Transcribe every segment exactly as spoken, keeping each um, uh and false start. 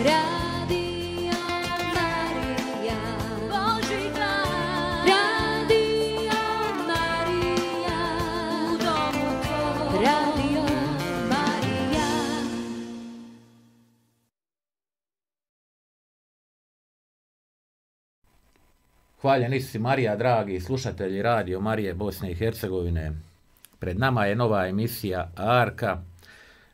Radio Marija, Božji glas. Radio Marija, u domu tvoj. Radio Marija. Hvaljeni si Marija, dragi slušatelji Radio Marije Bosne i Hercegovine. Pred nama je nova emisija Arka,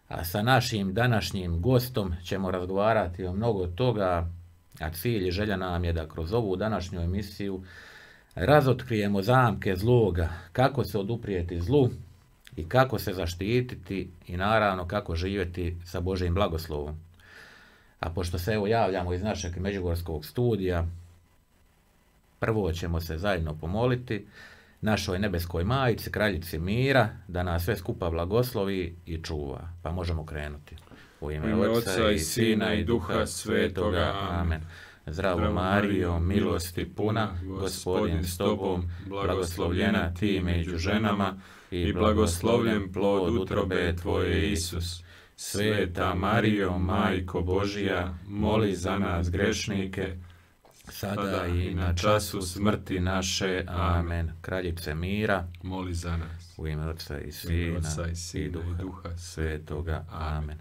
a sa našim današnjim gostom ćemo razgovarati o mnogo toga, a cilj i želja nam je da kroz ovu današnju emisiju razotkrijemo zamke zloga, kako se oduprijeti zlu i kako se zaštititi i naravno kako živjeti sa Božjim blagoslovom. A pošto se evo javljamo iz našeg međugorskog studija, prvo ćemo se zajedno pomoliti našoj nebeskoj majici, kraljici mira, da nas sve skupa blagoslovi i čuva. Pa možemo krenuti. U ime, ime Otca i Sina i Duha Svetoga. Amen. Zdravo Marijo, milosti puna, Gospodin s tobom, blagoslovljena ti među ženama i blagoslovljen plod utrobe tvoje, Isus. Sveta Marijo, Majko Božija, moli za nas grešnike, sada i na času smrti naše. Amen. Kraljice mira, moli za nas. U ime Otca i Sina, Otca i, Sina, i, duha, i Duha Svetoga. Amen.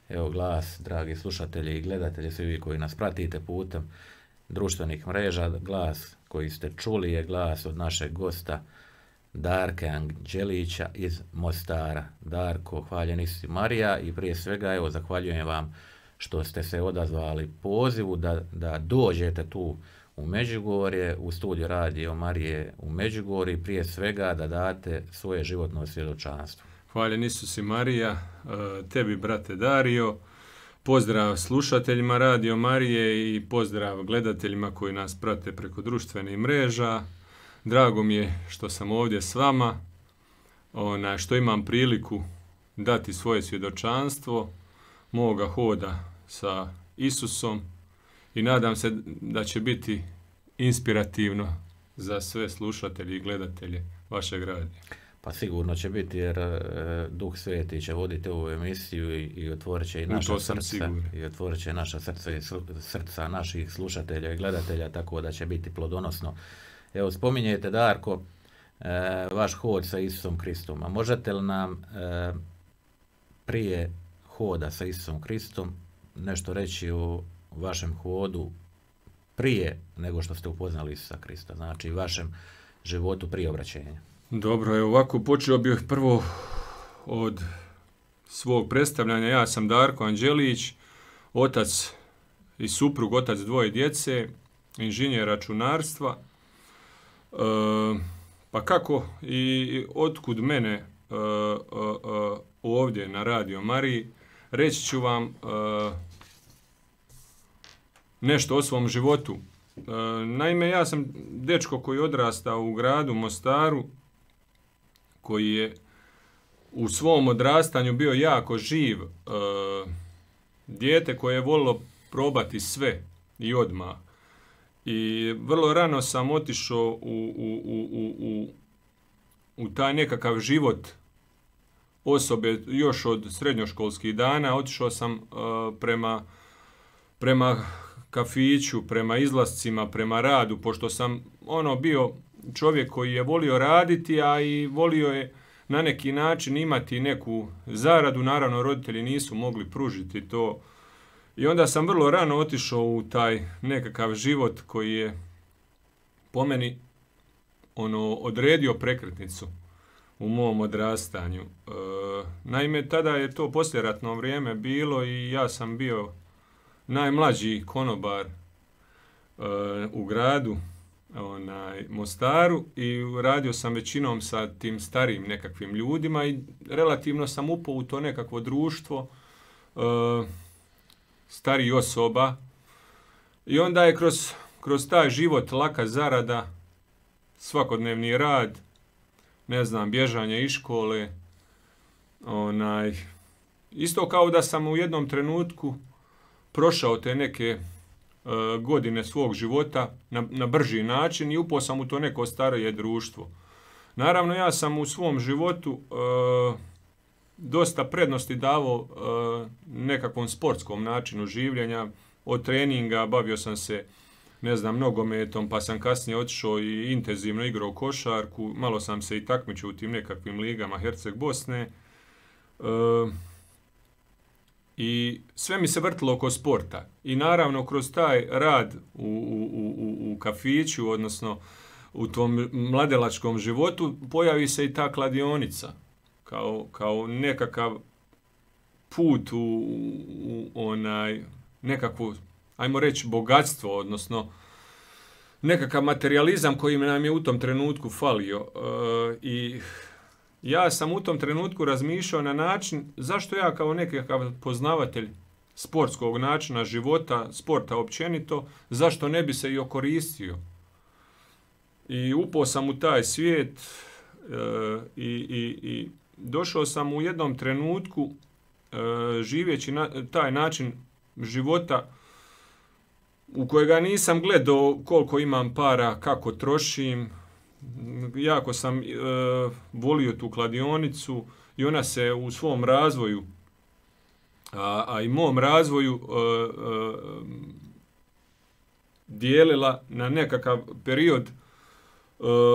Evo glas, dragi slušatelji i gledatelji, svi vi koji nas pratite putem društvenih mreža, glas koji ste čuli je glas od našeg gosta Darka Anđelića iz Mostara. Darko, hvaljeni si Marija i prije svega evo zahvaljujem vam što ste se odazvali pozivu da, da dođete tu u Međugorje, u studiju Radio Marije u Međugorju, prije svega da date svoje životno svjedočanstvo. Hvaljen Isus i Marija, tebi brate Dario, pozdrav slušateljima Radio Marije i pozdrav gledateljima koji nas prate preko društvenih mreža. Drago mi je što sam ovdje s vama, ona, što imam priliku dati svoje svjedočanstvo moga hoda sa Isusom i nadam se da će biti inspirativno za sve slušatelje i gledatelje vašeg radija. Pa sigurno će biti jer e, Duh Sveti će voditi ovu emisiju i, i otvorit će i naša srca i otvorit će naša srca i srca naših slušatelja i gledatelja, tako da će biti plodonosno. Evo, spominjete, Darko, e, vaš hod sa Isusom Kristom. A možete li nam e, prije hoda sa Isusom Kristom nešto reći o vašem hodu prije nego što ste upoznali Isusa Krista, znači vašem životu prije obraćenja? Dobro, evo ovako počeo bih prvo od svog predstavljanja. Ja sam Darko Anđelić, otac i suprug, otac dvoje djece, inženjer računarstva. E, pa kako i otkud mene e, e, e, ovdje na Radio Mariji? Reći ću vam e, nešto o svom životu. E, naime, ja sam dečko koji je odrastao u gradu Mostaru, koji je u svom odrastanju bio jako živ. E, dijete koje je volilo probati sve i odmah. I vrlo rano sam otišao u, u, u, u, u, u taj nekakav život osobe još od srednjoškolskih dana. Otišao sam uh, prema, prema kafiću, prema izlascima, prema radu, pošto sam ono bio čovjek koji je volio raditi, a i volio je na neki način imati neku zaradu. Naravno, roditelji nisu mogli pružiti to. I onda sam vrlo rano otišao u taj nekakav život koji je po meni ono odredio prekretnicu u mom odrastanju. E, naime, tada je to poslijeratno vrijeme bilo i ja sam bio najmlađi konobar e, u gradu, onaj, Mostaru, i radio sam većinom sa tim starijim nekakvim ljudima i relativno sam upao u to nekakvo društvo e, starijih osoba. I onda je kroz, kroz taj život laka zarada, svakodnevni rad, ne znam, bježanje iz škole, onaj, isto kao da sam u jednom trenutku prošao te neke uh, godine svog života na, na brži način i upao sam u to neko starije društvo. Naravno, ja sam u svom životu uh, dosta prednosti davao uh, nekakvom sportskom načinu življenja. Od treninga bavio sam se, ne znam, nogometom, pa sam kasnije otišao i intenzivno igrao košarku, malo sam se i takmičio u tim nekakvim ligama Herceg Bosne. E, I sve mi se vrtilo oko sporta. I naravno kroz taj rad u, u, u, u kafiću, odnosno u tom mladelačkom životu, pojavi se i ta kladionica kao, kao nekakav put u, u onaj nekakvu, ajmo reći, bogatstvo, odnosno nekakav materijalizam koji nam je u tom trenutku falio. E, I ja sam u tom trenutku razmišljao na način zašto ja kao nekakav poznavatelj sportskog načina života, sporta općenito, zašto ne bi se i okoristio. I upao sam u taj svijet e, i, i, i došao sam u jednom trenutku e, živeći na taj način života u kojega nisam gledao koliko imam para, kako trošim. Jako sam e, volio tu kladionicu i ona se u svom razvoju, a, a i mom razvoju e, e, dijelila na nekakav period e,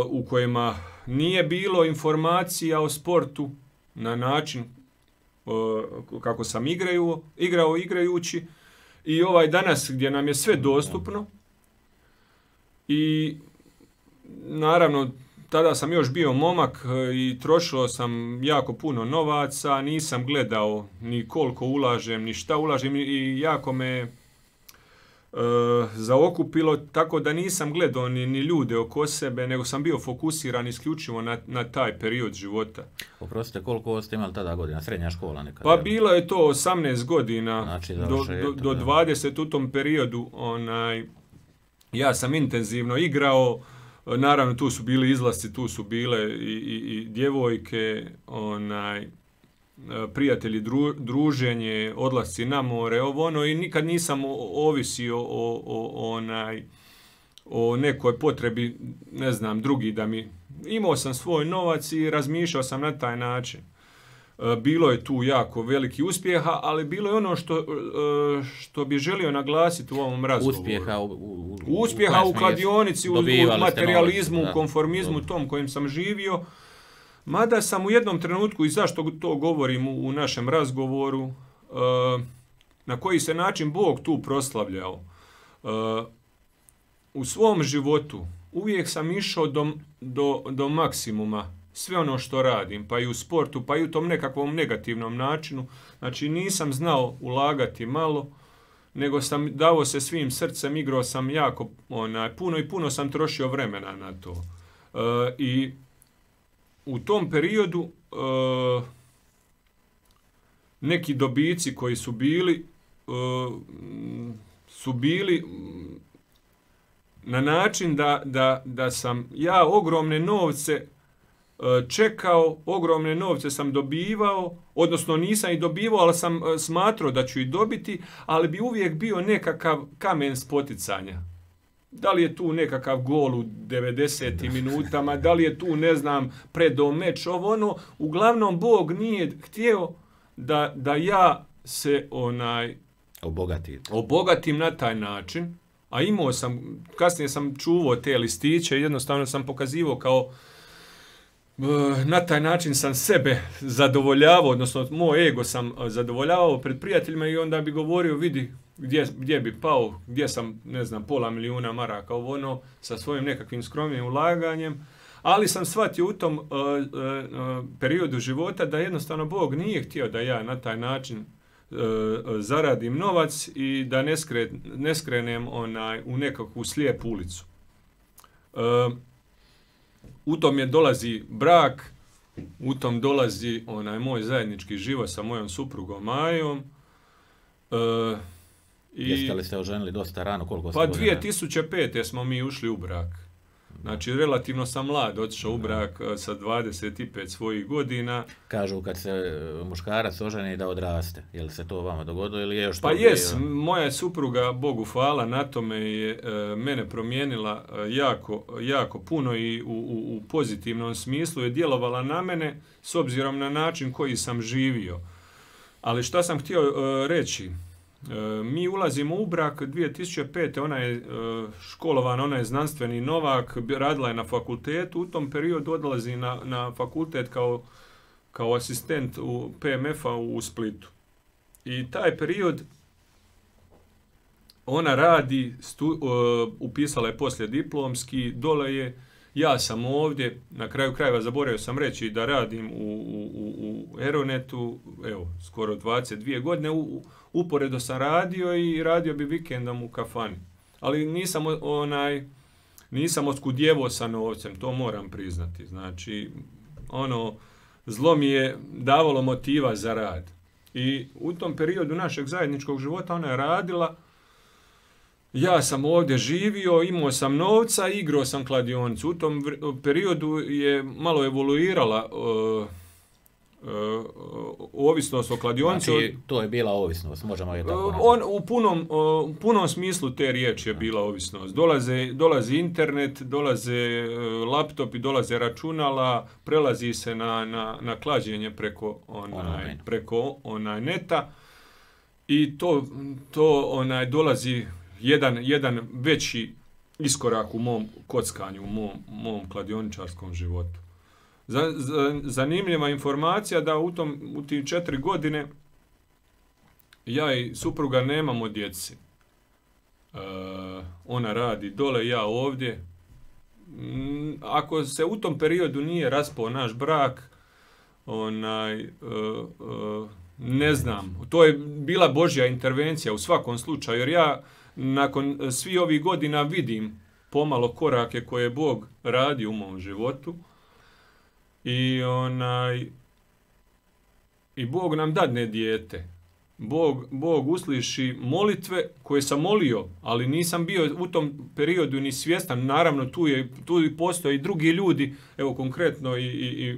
u kojima nije bilo informacija o sportu na način e, kako sam igraju, igrao igrajući i ovaj danas gdje nam je sve dostupno. I naravno, tada sam još bio momak i trošio sam jako puno novaca, nisam gledao ni koliko ulažem, ni šta ulažem i jako me e, zaokupilo, tako da nisam gledao ni, ni ljude oko sebe, nego sam bio fokusiran isključivo na, na taj period života. Oprostite, koliko ste imali tada godina? Srednja škola nekada? Pa bilo je to osamnaest godina, znači, do, do, do dvadeset u tom periodu. Onaj, ja sam intenzivno igrao. Naravno, tu su bili izlasci, tu su bile i, i, i djevojke, onaj, prijatelji, dru, druženje, odlasci na more, ovo ono, i nikad nisam ovisio o, o, onaj, o nekoj potrebi, ne znam, drugi da mi... Imao sam svoj novac i razmišljao sam na taj način. Bilo je tu jako veliki uspjeha, ali bilo je ono što, što bi želio naglasiti u ovom razgovoru. Uspjeha u, u, uspjeha u, u kladionici, u, u materializmu, novac, u konformizmu, tom kojim sam živio. Mada sam u jednom trenutku, i zašto to govorim u, u našem razgovoru, na koji se način Bog tu proslavljao. U svom životu uvijek sam išao do, do, do maksimuma. Sve ono što radim, pa i u sportu, pa i u tom nekakvom negativnom načinu. Znači nisam znao ulagati malo, nego sam dao se svim srcem, igrao sam jako onaj, puno i puno sam trošio vremena na to. E, I u tom periodu e, neki dobici koji su bili, e, su bili na način da, da, da sam ja ogromne novce čekao, ogromne novce sam dobivao, odnosno nisam i dobivao, ali sam smatrao da ću i dobiti, ali bi uvijek bio nekakav kamen spoticanja. Da li je tu nekakav gol u devedesetim minutama, da li je tu, ne znam, predo meč, ovo ono. Uglavnom, Bog nije htio da, da ja se onaj obogatim. obogatim na taj način, a imao sam, kasnije sam čuvao te listiće i jednostavno sam pokazivao kao na taj način sam sebe zadovoljavao, odnosno moj ego sam zadovoljavao pred prijateljima i onda bi govorio, vidi gdje, gdje bi pao, gdje sam, ne znam, pola milijuna maraka, ovo ono, sa svojim nekakvim skromnim ulaganjem, ali sam shvatio u tom uh, uh, periodu života da jednostavno Bog nije htio da ja na taj način uh, zaradim novac i da ne, skre, ne skrenem onaj, u nekakvu slijepu ulicu. Uh, U tom je dolazi brak, u tom dolazi onaj moj zajednički život sa mojom suprugom Majom. E, i, Jeste li se oženili dosta rano? Koliko ste pa dvije tisuće pete smo mi ušli u brak. Znači, relativno sam mlad, otišao u brak sa dvadeset pet svojih godina. Kažu kad se muškarac oženi da odraste. Je li se to vama dogodilo ili je još pa jes, bio? Moja supruga, Bogu hvala, na tome je e, mene promijenila e, jako, jako puno i u, u, u pozitivnom smislu je djelovala na mene s obzirom na način koji sam živio. Ali šta sam htio uh, reći? Uh, mi ulazimo u brak dvije tisuće pete. Ona je uh, školovana, ona je znanstveni novak, radila je na fakultetu. U tom periodu odlazi na, na fakultet kao, kao asistent u P M F-a u Splitu. I taj period ona radi, stu, uh, upisala je poslije diplomski, dole je, ja sam ovdje, na kraju krajeva zaboravio sam reći da radim u, u, u Aeronetu, evo, skoro dvadeset dvije godine, u, uporedo sam radio i radio bi vikendom u kafani. Ali nisam onaj, nisam oskudjevo sa novcem, to moram priznati. Znači, ono, zlo mi je davalo motiva za rad. I u tom periodu našeg zajedničkog života ona je radila, ja sam ovdje živio, imao sam novca, igrao sam kladionicu. U tom periodu je malo evoluirala uh, uh, ovisnost o kladionici. Znači, to je bila ovisnost, možemo je tako nazvati. On, u, punom, uh, u punom smislu te riječi je bila ovisnost. Dolaze, dolazi internet, dolaze uh, laptopi, dolaze računala, prelazi se na, na, na klađenje preko, onaj, preko onaj neta i to, to onaj, dolazi Jedan, jedan veći iskorak u mom kockanju, u mom, mom kladioničarskom životu. Za, za, zanimljiva informacija da u, tom, u tim četiri godine ja i supruga nemamo djeci. E, ona radi dole, ja ovdje. Ako se u tom periodu nije raspao naš brak, onaj... E, e, ne znam, to je bila Božja intervencija u svakom slučaju, jer ja nakon svih ovih godina vidim pomalo korake koje Bog radi u mom životu i onaj i Bog nam dadne dijete. Bog, Bog usliši molitve koje sam molio, ali nisam bio u tom periodu ni svjestan. Naravno, tu je tu postoje i drugi ljudi, evo konkretno i, i, i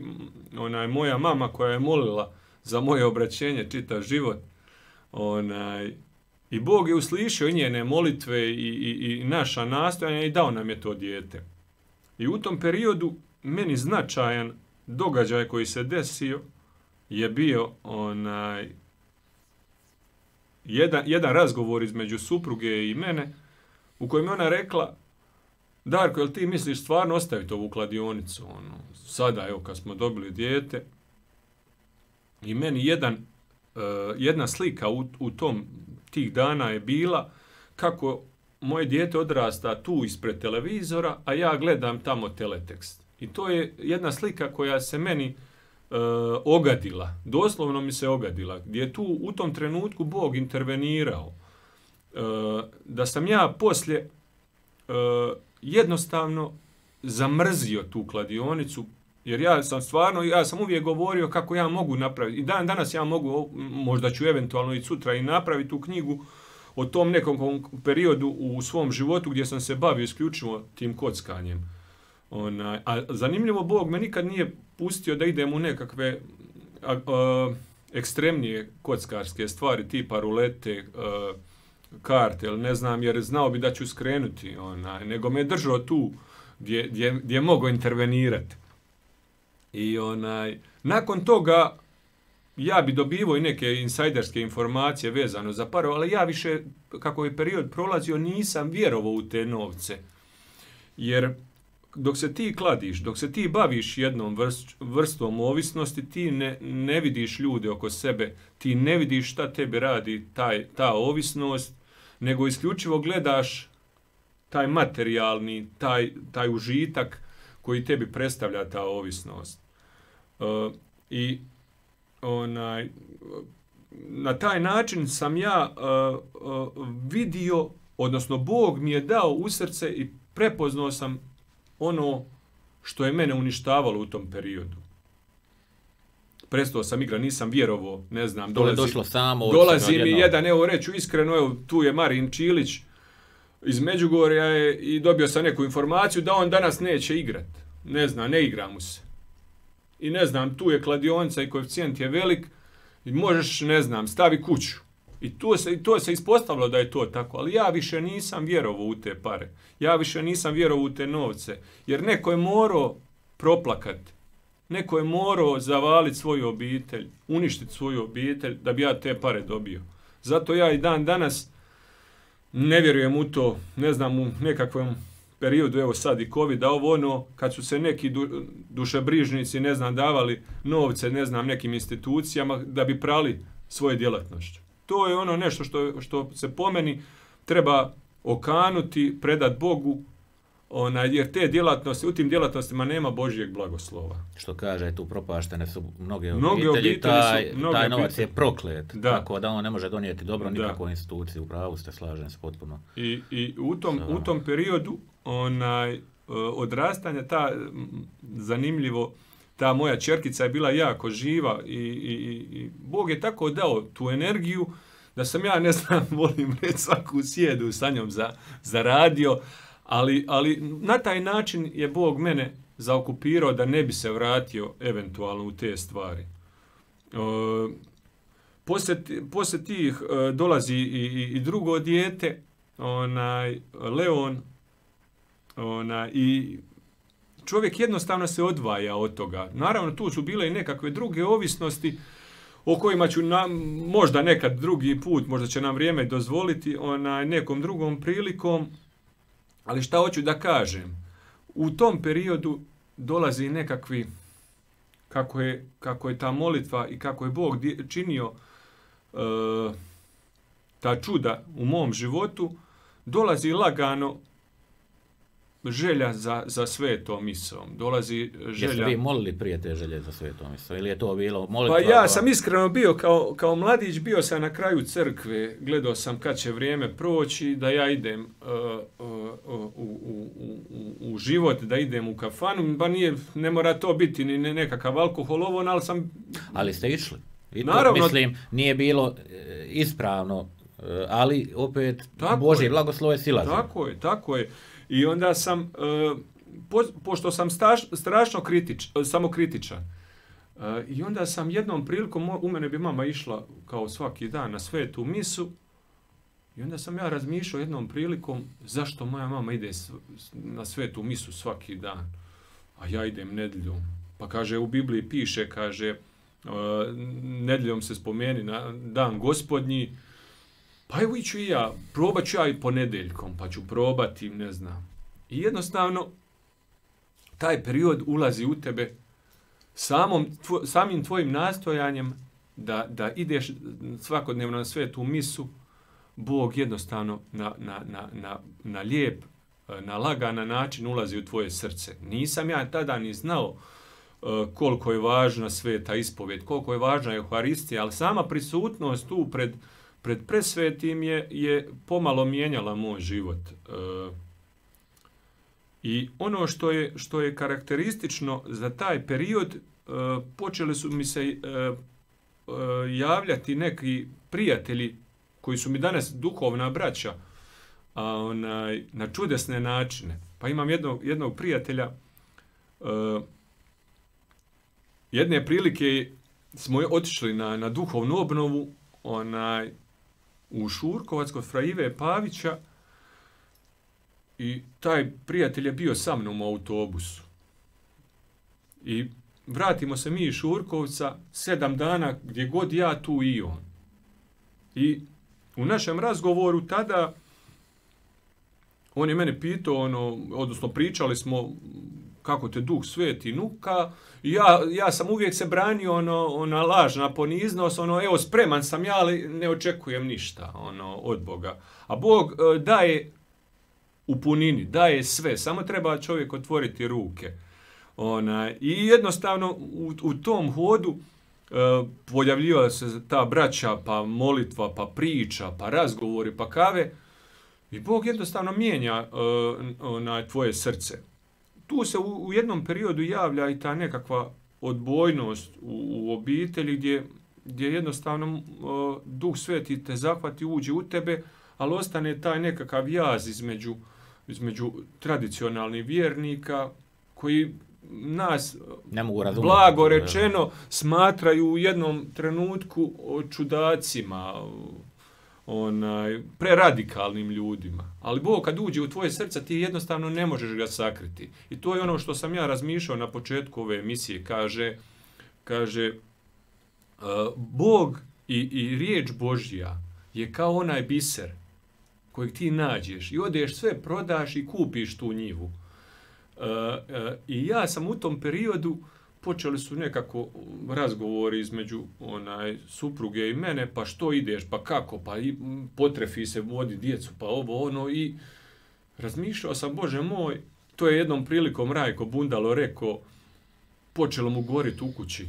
onaj moja mama koja je molila za moje obraćenje čitav život. Onaj, i Bog je uslišio i njene molitve i, i, i naša nastojanja i dao nam je to dijete. I u tom periodu meni značajan događaj koji se desio je bio onaj jedan, jedan razgovor između supruge i mene u kojem je ona rekla: Darko, jel ti misliš stvarno ostaviti ovu kladionicu? Ono, sada, evo, kad smo dobili dijete. I meni jedan, uh, jedna slika u, u tom tih dana je bila kako moje dijete odrasta tu ispred televizora, a ja gledam tamo teletekst. I to je jedna slika koja se meni uh, ogadila, doslovno mi se ogadila, gdje je tu u tom trenutku Bog intervenirao. Uh, da sam ja poslije uh, jednostavno zamrzio tu kladionicu, jer ja sam stvarno, ja sam uvijek govorio kako ja mogu napraviti. I dan danas ja mogu, možda ću eventualno i sutra i napraviti tu knjigu o tom nekom periodu u svom životu gdje sam se bavio isključivo tim kockanjem. Ona, a zanimljivo, Bog me nikad nije pustio da idem u nekakve a, a, ekstremnije kockarske stvari, tipa rulete, a, karte, ili ne znam, jer znao bi da ću skrenuti. Ona, nego me držao tu gdje, gdje, gdje mogu intervenirati. I onaj, nakon toga ja bi dobivao i neke insajderske informacije vezano za parove, ali ja više, kako je period prolazio, nisam vjerovao u te novce. Jer dok se ti kladiš, dok se ti baviš jednom vrst, vrstom ovisnosti, ti ne, ne vidiš ljude oko sebe, ti ne vidiš šta tebi radi taj, ta ovisnost, nego isključivo gledaš taj materijalni, taj, taj užitak koji tebi predstavlja ta ovisnost. Uh, I onaj, na taj način sam ja uh, uh, vidio, odnosno Bog mi je dao u srce i prepoznao sam ono što je mene uništavalo u tom periodu. Prestao sam igra, nisam vjerovao, ne znam, dolazi, to je došlo samo dolazi mi jedan, evo reću iskreno, evo tu je Marin Čilić iz Međugorja je, i dobio sam neku informaciju da on danas neće igrati. Ne znam, ne igra mu se. I ne znam, tu je kladionica i koeficijent je velik i možeš, ne znam, stavi kuću. I to se, i to se ispostavilo da je to tako, ali ja više nisam vjerovao u te pare. Ja više nisam vjerovao u te novce, jer neko je morao proplakati neko je morao zavaliti svoju obitelj, uništiti svoju obitelj da bi ja te pare dobio. Zato ja i dan danas ne vjerujem u to, ne znam, u nekakvom periodu, evo sad i COVID, da ovo ono, kad su se neki du, dušebrižnici, ne znam, davali novce, ne znam, nekim institucijama da bi prali svoje djelatnošću. To je ono nešto što, što se po meni treba okanuti, predat Bogu, ona, jer te djelatnosti, u tim djelatnostima nema Božjeg blagoslova. Što kaže, tu propaštene su mnoge, mnoge obitelji, obitelji taj, su, mnoge taj novac obitelji. je proklet, Da. tako da on ne može donijeti dobro nikakvoj Da. instituciji, u pravu ste, slažem se potpuno. I, i u, tom, Sa u vama. tom periodu onaj, odrastanja, ta, zanimljivo, ta moja ćerkica je bila jako živa i, i, i Bog je tako dao tu energiju da sam ja, ne znam, volim reći, svaku sjedu sa njom za, zaradio, ali, ali na taj način je Bog mene zaokupirao da ne bi se vratio eventualno u te stvari. E, poslije, poslije tih e, dolazi i, i, i drugo dijete, onaj, Leon, onaj, i čovjek jednostavno se odvaja od toga. Naravno, tu su bile i nekakve druge ovisnosti o kojima ću nam, možda nekad drugi put, možda će nam vrijeme dozvoliti, onaj, nekom drugom prilikom, ali šta hoću da kažem? U tom periodu dolazi nekakvi, kako je, kako je ta molitva i kako je Bog činio e, ta čuda u mom životu, dolazi lagano želja za, za svetom misom. Dolazi želja... Jeste vi molili prije te želje za svetom misom? Ili je to bilo molitva? Pa ja sam iskreno bio kao, kao mladić, bio sam na kraju crkve, gledao sam kad će vrijeme proći, da ja idem uh, uh, uh, u, u, u, u život, da idem u kafanu, ba nije, ne mora to biti ni nekakav alkohol, ovo, ali sam... Ali ste išli. I to, Naravno, mislim, nije bilo e, ispravno, e, ali opet Tako Božji je. blagoslov je sila. Tako je, tako je. I onda sam, uh, po, pošto sam staš, strašno kritič, samokritičan, uh, i onda sam jednom prilikom, u mene bi mama išla kao svaki dan na svetu misu, i onda sam ja razmišljao jednom prilikom zašto moja mama ide na svetu misu svaki dan, a ja idem nedjeljom. Pa kaže, u Bibliji piše, kaže, uh, nedjeljom se spomeni na dan Gospodnji, pa evo iću i ja, probat ću ja i ponedeljkom, pa ću probati, ne znam. I jednostavno, taj period ulazi u tebe samom, tvo, samim tvojim nastojanjem da, da ideš svakodnevno na svetu misu, Bog jednostavno na, na, na, na, na lijep, na lagan način ulazi u tvoje srce. Nisam ja tada ni znao uh, koliko je važna sveta ispovjed, koliko je važna Euharistija, ali sama prisutnost tu pred pred presvetim je, je pomalo mijenjala moj život. E, I ono što je, što je karakteristično za taj period, e, počeli su mi se e, e, javljati neki prijatelji koji su mi danas duhovna braća, a onaj, na čudesne načine. Pa imam jednog, jednog prijatelja, e, jedne prilike smo otišli na, na duhovnu obnovu, onaj, u Šurkovac kod fra Ive Pavića, i taj prijatelj je bio sa mnom u autobusu. I vratimo se mi iz Šurkovca, sedam dana, gdje god ja, tu i on. I u našem razgovoru tada on je mene pitao, ono, odnosno pričali smo kako te Duh Sveti nuka. Ja, ja sam uvijek se branio, ono, ona lažna poniznost, ono, evo, spreman sam ja, ali ne očekujem ništa, ono, od Boga. A Bog e, daje u punini, daje sve, samo treba čovjek otvoriti ruke. Ona, i jednostavno u, u tom hodu e, pojavljivala se ta braća, pa molitva, pa priča, pa razgovori, pa kave, i Bog jednostavno mijenja e, ona, tvoje srce. Tu se u, u jednom periodu javlja i ta nekakva odbojnost u, u obitelji gdje, gdje jednostavno uh, Duh Sveti te zahvati, uđe u tebe, ali ostane taj nekakav jaz između, između tradicionalnih vjernika koji nas, ne mogu razumjeti, blago rečeno, smatraju u jednom trenutku čudacima, onaj, preradikalnim ljudima. Ali Bog kad uđe u tvoje srce, ti jednostavno ne možeš ga sakriti. I to je ono što sam ja razmišljao na početku ove emisije. Kaže, kaže uh, Bog i, i riječ Božja je kao onaj biser kojeg ti nađeš i odeš sve, prodaš i kupiš tu njivu. Uh, uh, I ja sam u tom periodu, počeli su nekako razgovori između onaj supruge i mene, pa što ideš, pa kako, pa i potrefi se, vodi djecu, pa ovo, ono, i razmišljao sam, Bože moj, to je jednom prilikom Rajko Bundalo rekao, počelo mu goriti u kući,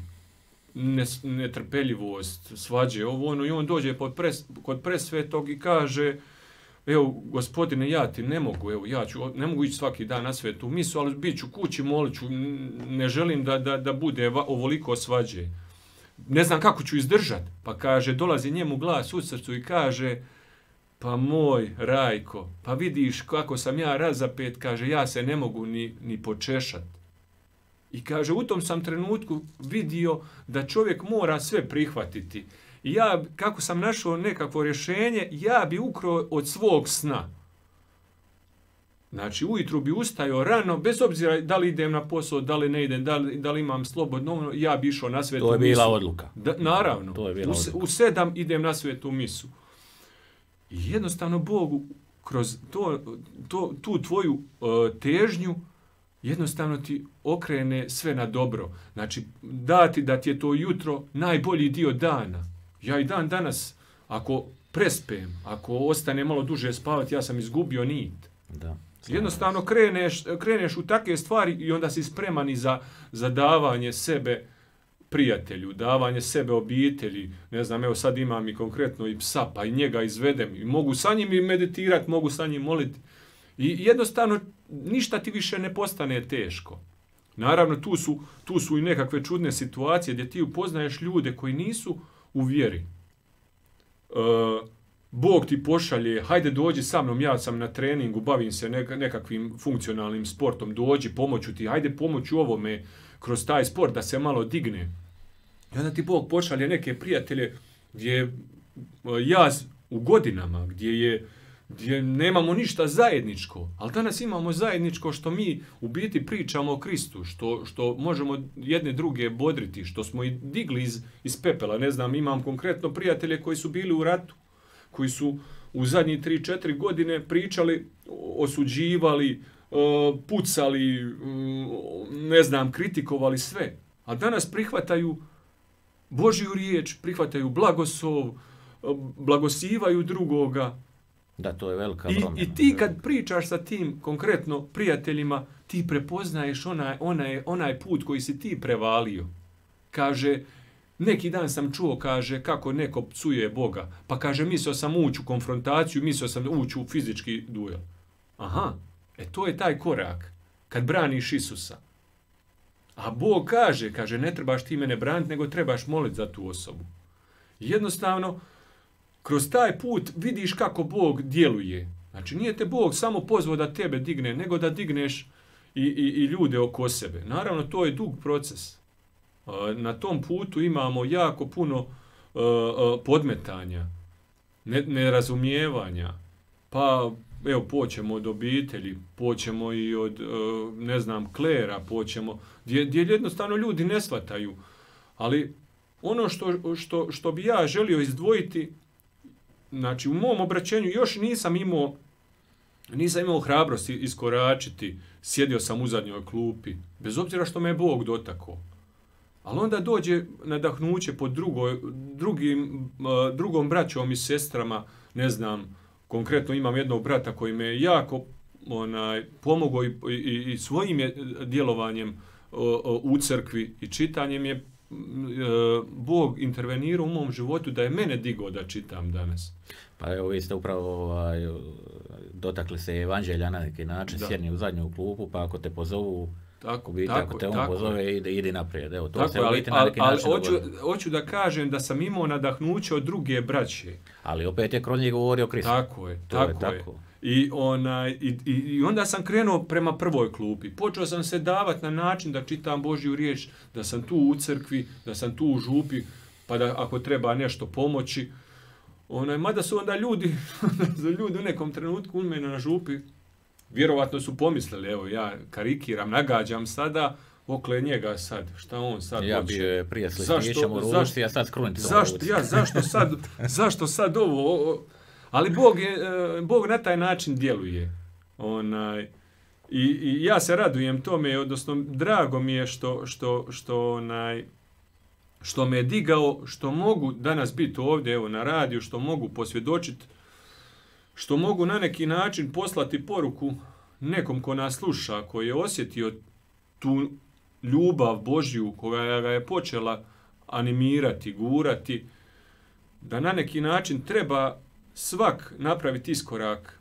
netrpeljivost, svađe, ovo, ono, i on dođe pod pres, kod presvetog i kaže, evo, gospodine, ja ti ne mogu, evo, ja ću, ne mogu ići svaki dan na svetu misu, ali bit ću kući, molit ću, ne želim da, da, da bude ovoliko svađe. Ne znam kako ću izdržat. Pa kaže, dolazi njemu glas u srcu i kaže, pa moj Rajko, pa vidiš kako sam ja razapet, kaže, ja se ne mogu ni, ni počešat. I kaže, u tom sam trenutku vidio da čovjek mora sve prihvatiti. I ja, kako sam našao nekakvo rješenje, ja bi ukro od svog sna. Znači, ujutru bi ustajao rano, bez obzira da li idem na posao, da li ne idem, da li, da li imam slobodno, ja bi išao na svetu misu. To je bila misu. Odluka. Da, naravno. To je bila u, odluka. U sedam idem na svetu misu. I jednostavno Bog kroz to, to, tu tvoju uh, težnju jednostavno ti okrene sve na dobro. Znači, dati da ti je to jutro najbolji dio dana. Ja i dan danas, ako prespem, ako ostane malo duže spavati, ja sam izgubio nit. Da. Jednostavno kreneš, kreneš u takve stvari i onda si spreman i za, za davanje sebe prijatelju, davanje sebe obitelji. Ne znam, evo sad imam i konkretno i psa, pa i njega izvedem. I mogu sa njim i meditirati, mogu sa njim moliti. I jednostavno ništa ti više ne postane teško. Naravno, tu su, tu su i nekakve čudne situacije gdje ti upoznaješ ljude koji nisu u vjeri. E, Bog ti pošalje, hajde dođi sa mnom, ja sam na treningu, bavim se neka, nekakvim funkcionalnim sportom, dođi, pomoću ti, hajde pomoću ovome kroz taj sport da se malo digne. I onda ti Bog pošalje neke prijatelje gdje je jaz u godinama, gdje je gdje nemamo ništa zajedničko, ali danas imamo zajedničko što mi u biti pričamo o Kristu, što, što možemo jedne druge bodriti, što smo i digli iz, iz pepela. Ne znam, imam konkretno prijatelje koji su bili u ratu, koji su u zadnjih tri četiri godine pričali, osuđivali, pucali, ne znam, kritikovali sve. A danas prihvataju Božju riječ, prihvataju blagoslov, blagosivaju drugoga. Da, to je velika I, promjena. I ti kad pričaš sa tim konkretno prijateljima, ti prepoznaješ onaj, onaj, onaj put koji si ti prevalio. Kaže, neki dan sam čuo, kaže, kako neko psuje Boga. Pa kaže, mislio sam ući u konfrontaciju, mislio sam ući u fizički duel. Aha, e to je taj korak. Kad braniš Isusa. A Bog kaže, kaže, ne trebaš ti mene braniti, nego trebaš moliti za tu osobu. Jednostavno, kroz taj put vidiš kako Bog djeluje. Znači, nije te Bog samo pozvao da tebe digne, nego da digneš i, i, i ljude oko sebe. Naravno, to je dug proces. Na tom putu imamo jako puno uh, podmetanja, ne, nerazumijevanja. Pa, evo, poćemo od obitelji, poćemo i od, uh, ne znam, klera, poćemo, gdje, gdje jednostavno ljudi ne shvataju. Ali ono što, što, što bi ja želio izdvojiti, znači, u mom obraćenju još nisam imao, nisam imao hrabrosti iskoračiti, sjedio sam u zadnjoj klupi, bez obzira što me je Bog dotakao. Ali onda dođe nadahnuće pod drugoj, drugim, drugom braćom i sestrama, ne znam, konkretno imam jednog brata koji me je jako onaj, pomogao i, i, i svojim je djelovanjem u crkvi i čitanjem je Bog intervenirao u mom životu da je mene digao da čitam danas. Pa evo, vi ste upravo ovaj, dotakli se evanđelja na neki način, sjedni u zadnju klupu, pa ako te pozovu, tako, biti, tako, ako te on tako pozove, ide, ide naprijed. Evo, to tako, se ali, u biti na neki ali, način hoću, dogodilo. hoću da kažem da sam imao nadahnuće od druge braće. Ali opet je kroz njih govorio Kristo. Tako je, to tako je. je. Tako. I, onaj, i, i, I onda sam krenuo prema prvoj klupi. Počeo sam se davati na način da čitam Božju riječ, da sam tu u crkvi, da sam tu u župi, pa da ako treba nešto pomoći. onaj, mada su onda ljudi, ljudi u nekom trenutku u mene na župi, vjerovatno su pomislili, evo ja karikiram, nagađam sada, okle njega sad, šta on sad ja hoće. Ja bi prije s listićem u ruci, a sad skruniti zašto, ja, zašto sad, zašto sad ovo, o, ali Bog, je, Bog na taj način djeluje. Onaj, i, i ja se radujem tome, odnosno drago mi je što, što, što, onaj, što me je digao, što mogu danas biti ovdje evo, na radiju, što mogu posvjedočiti, što mogu na neki način poslati poruku nekom ko nas sluša, koji je osjetio tu ljubav Božju koja ga je počela animirati, gurati, da na neki način treba svak napraviti iskorak.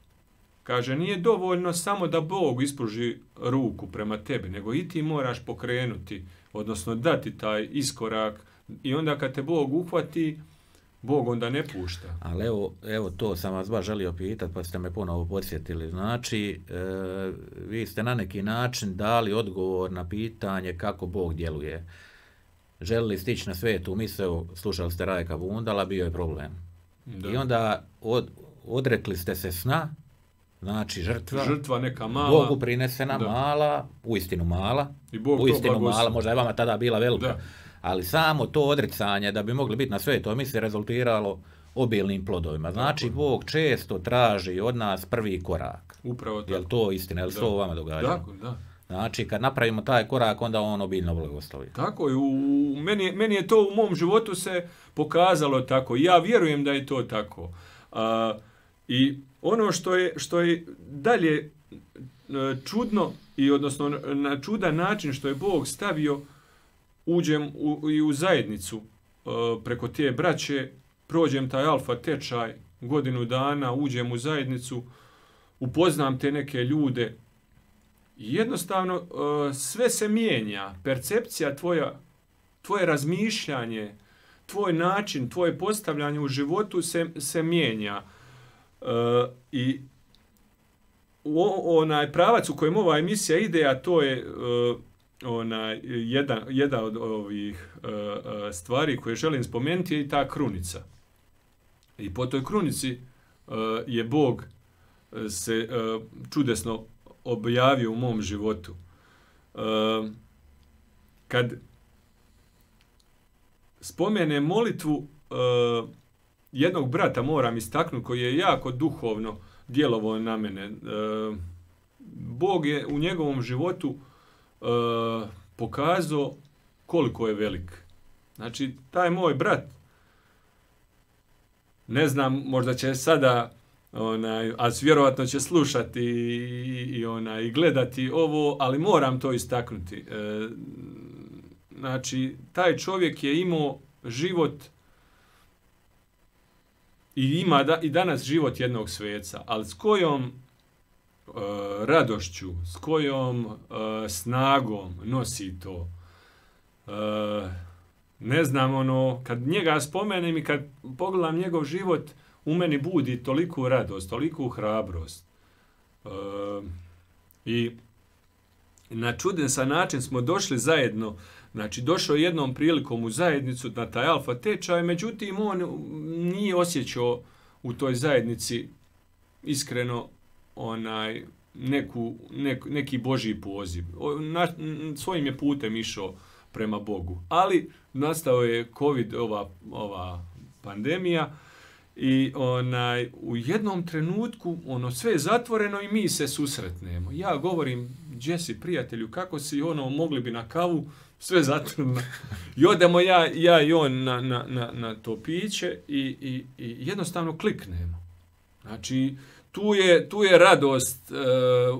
Kaže, nije dovoljno samo da Bog ispruži ruku prema tebi, nego i ti moraš pokrenuti, odnosno dati taj iskorak i onda kad te Bog uhvati, Bog onda ne pušta. Ali evo, evo to sam vas baš želio pitati, pa ste me ponovo podsjetili. Znači, e, vi ste na neki način dali odgovor na pitanje kako Bog djeluje. Želili stići na svetu misao, slušali ste Rajka Bundala, bio je problem. Da. I onda od, odrekli ste se sna, znači žrtva, žrtva neka mala, Bogu prinesena da. mala, uistinu mala, i Bog uistinu mala, možda je vama tada bila velika. Da. Ali samo to odricanje da bi mogli biti na svetoj misiji rezultiralo obilnim plodovima. Znači, tako. Bog često traži od nas prvi korak. Upravo tako. Je li to istina? Je li to vama događa? Tako, da. Znači, kad napravimo taj korak, onda on obilno blagoslovi. Tako je. U, meni, meni je to u mom životu se pokazalo tako. Ja vjerujem da je to tako. A, I ono što je, što je dalje čudno, i odnosno na čudan način što je Bog stavio, uđem u, i u zajednicu uh, preko te braće, prođem taj alfa tečaj godinu dana, uđem u zajednicu, upoznam te neke ljude i jednostavno uh, sve se mijenja, percepcija tvoja, tvoje razmišljanje, tvoj način, tvoje postavljanje u životu se, se mijenja. Uh, I o, onaj pravac u kojem ova emisija ide, a to je uh, Ona, jedan, jedna od ovih uh, stvari koje želim spomenuti je i ta krunica. I po toj krunici uh, je Bog se uh, čudesno objavio u mom životu. Uh, kad spomenem molitvu uh, jednog brata, moram istaknuti, koji je jako duhovno djelovao na mene. Uh, Bog je u njegovom životu Uh, pokazao koliko je velik. Znači, taj moj brat, ne znam, možda će sada, onaj, a vjerovatno će slušati i, i, onaj, i gledati ovo, ali moram to istaknuti. Uh, znači, taj čovjek je imao život i ima da, i danas život jednog sveca, ali s kojom Uh, radošću, s kojom uh, snagom nosi to. Uh, ne znam, ono, kad njega spomenem i kad pogledam njegov život, u meni budi toliku radost, toliku hrabrost. Uh, I na čudesan način smo došli zajedno, znači došao jednom prilikom u zajednicu na taj alfa tečaj, međutim on nije osjećao u toj zajednici iskreno onaj neku, nek, neki Božji poziv. Na, svojim je putem išao prema Bogu. Ali nastao je COVID, ova, ova pandemija, i onaj, u jednom trenutku ono sve je zatvoreno i mi se susretnemo. Ja govorim, gdje si prijatelju, kako si, ono, mogli bi na kavu, sve zatvoreno. I odemo ja, ja i on na, na, na, na to piće i, i, i jednostavno kliknemo. Znači, Tu je, tu je radost uh,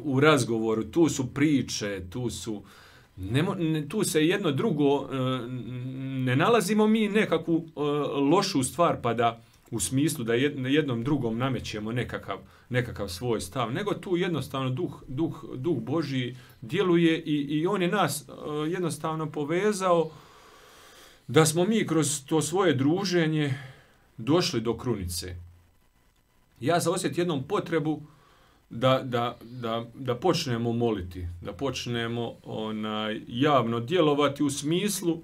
u razgovoru, tu su priče, tu su, ne, ne, tu se jedno drugo, uh, ne nalazimo mi nekakvu uh, lošu stvar pa da u smislu da jednom drugom namećemo nekakav, nekakav svoj stav, nego tu jednostavno duh, duh, duh Božji djeluje i, i on je nas uh, jednostavno povezao da smo mi kroz to svoje druženje došli do krunice. Ja sam osjetio jednom potrebu da, da, da, da počnemo moliti, da počnemo onaj, javno djelovati u smislu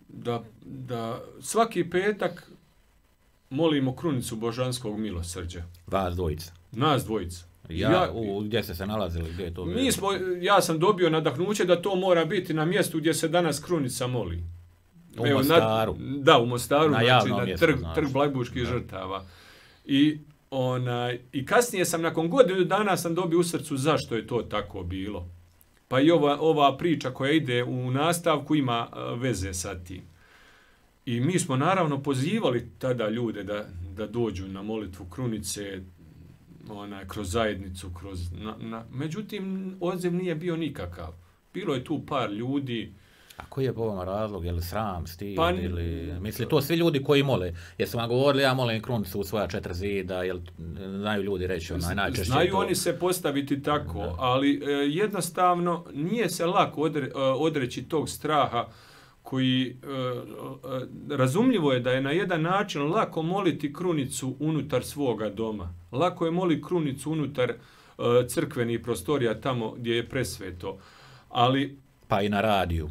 da, da svaki petak molimo krunicu božanskog milosrđa. Vas dvojica. Nas dvojica. Ja, ja u, gdje ste se nalazili, gdje je to bilo? Mi smo, ja sam dobio nadahnuće da to mora biti na mjestu gdje se danas krunica moli. U Evo, Mostaru. Na, da, u Mostaru, na, znači na mjestu, trg, znači. trg Blajburških žrtava. I, onaj, I kasnije sam, nakon godinu dana sam dobio u srcu zašto je to tako bilo. Pa i ova, ova priča koja ide u nastavku ima uh, veze sa tim. I mi smo naravno pozivali tada ljude da, da dođu na molitvu krunice, onaj, kroz zajednicu, kroz... Na, na, međutim, odziv nije bio nikakav. Bilo je tu par ljudi. A koji je po ovom razlog? Je li sram, stid Pa, ili... Misli, to svi ljudi koji mole. Jesu vam govorili, ja molim krunicu u svoja četiri zida, jel znaju ljudi reći onaj najčešće Znaju to... oni se postaviti tako, da. ali e, jednostavno nije se lako odre, odreći tog straha koji e, e, razumljivo je da je na jedan način lako moliti krunicu unutar svoga doma. Lako je moliti krunicu unutar e, crkvenih prostorija tamo gdje je presveto. Ali pa i na radiju,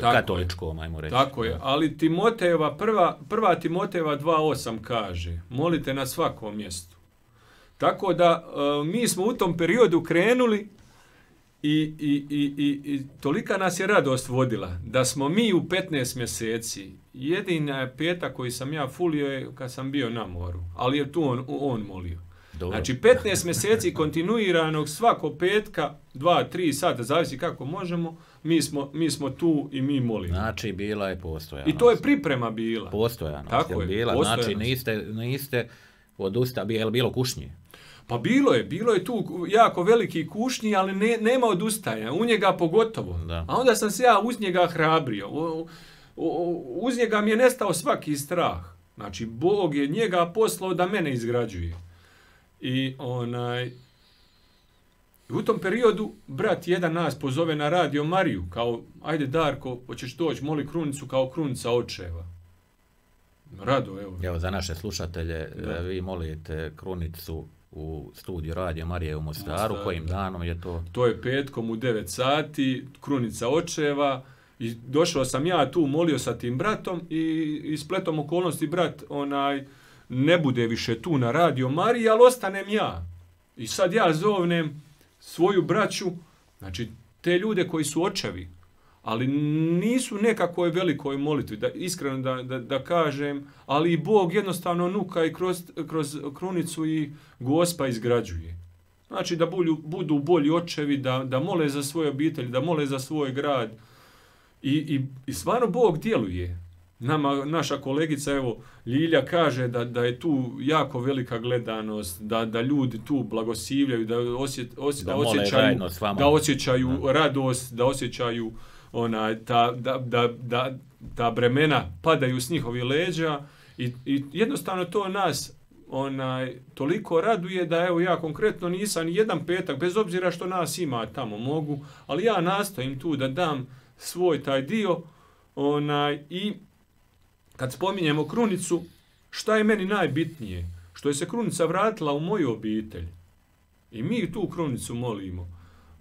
katoličkom, ajmo reći. Tako je, ali Timotejeva, prva, prva Timotejeva dva osam kaže, molite na svakom mjestu. Tako da e, mi smo u tom periodu krenuli i, i, i, i, i tolika nas je radost vodila, da smo mi u petnaest mjeseci, jedina petak koji sam ja fulio je kad sam bio na moru, ali je tu on, on molio. Dobro. Znači petnaest mjeseci kontinuiranog svako petka, dva, tri sata, zavisi kako možemo, mi smo, mi smo tu i mi molimo. Znači bila je postojanost. I to je priprema bila. Postojanost Tako je je, bila, postojanost. Znači niste, niste odusta, je li bilo kušnje? Pa bilo je, bilo je tu jako veliki kušnji, ali ne, nema odustajanja, u njega pogotovo. Da. A onda sam se ja uz njega hrabrio, u, u, uz njega mi je nestao svaki strah. Znači Bog je njega poslao da mene izgrađuje. I onaj, u tom periodu brat jedan nas pozove na radio Mariju, kao, ajde Darko, hoćeš doći, moli krunicu kao krunica očeva. Rado, evo. Evo, za naše slušatelje, Da. vi molite krunicu u studiju Radio Marije u Mostaru, Mostaru, kojim da. danom je to? To je petkom u devet sati, krunica očeva. I došao sam ja tu, molio sa tim bratom i, i spletom okolnosti brat onaj ne bude više tu na Radio Mariji, ali ostanem ja. I sad ja zovnem svoju braću, znači te ljude koji su očevi, ali nisu nekakvoj velikoj molitvi, da iskreno da, da, da kažem, ali i Bog jednostavno nuka i kroz, kroz krunicu i Gospa izgrađuje. Znači da budu, budu bolji očevi, da, da mole za svoje obitelji, da mole za svoj grad. I, i, i stvarno Bog djeluje. Nama, naša kolegica, evo, Ljilja kaže da, da je tu jako velika gledanost, da, da ljudi tu blagosivljaju, da, osjet, osjet, Da da mole osjećaju, zajedno s vama. da osjećaju Da. radost, da osjećaju onaj, ta, da, da, da, da bremena padaju s njihovih leđa i, i jednostavno to nas onaj, toliko raduje da evo ja konkretno nisam ni jedan petak, bez obzira što nas ima tamo mogu, ali ja nastojim tu da dam svoj taj dio onaj, i kad spominjemo krunicu, šta je meni najbitnije? Što je se krunica vratila u moju obitelj. I mi tu krunicu molimo.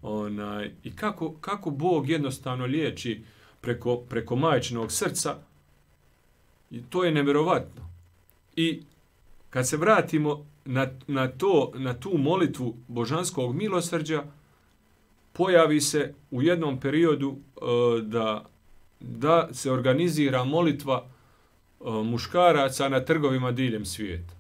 Onaj, i kako, kako Bog jednostavno liječi preko, preko majčinog srca, i to je nevjerovatno. I kad se vratimo na, na, to, na tu molitvu božanskog milosrđa, pojavi se u jednom periodu uh, da, da se organizira molitva uh, muškaraca na trgovima diljem svijeta.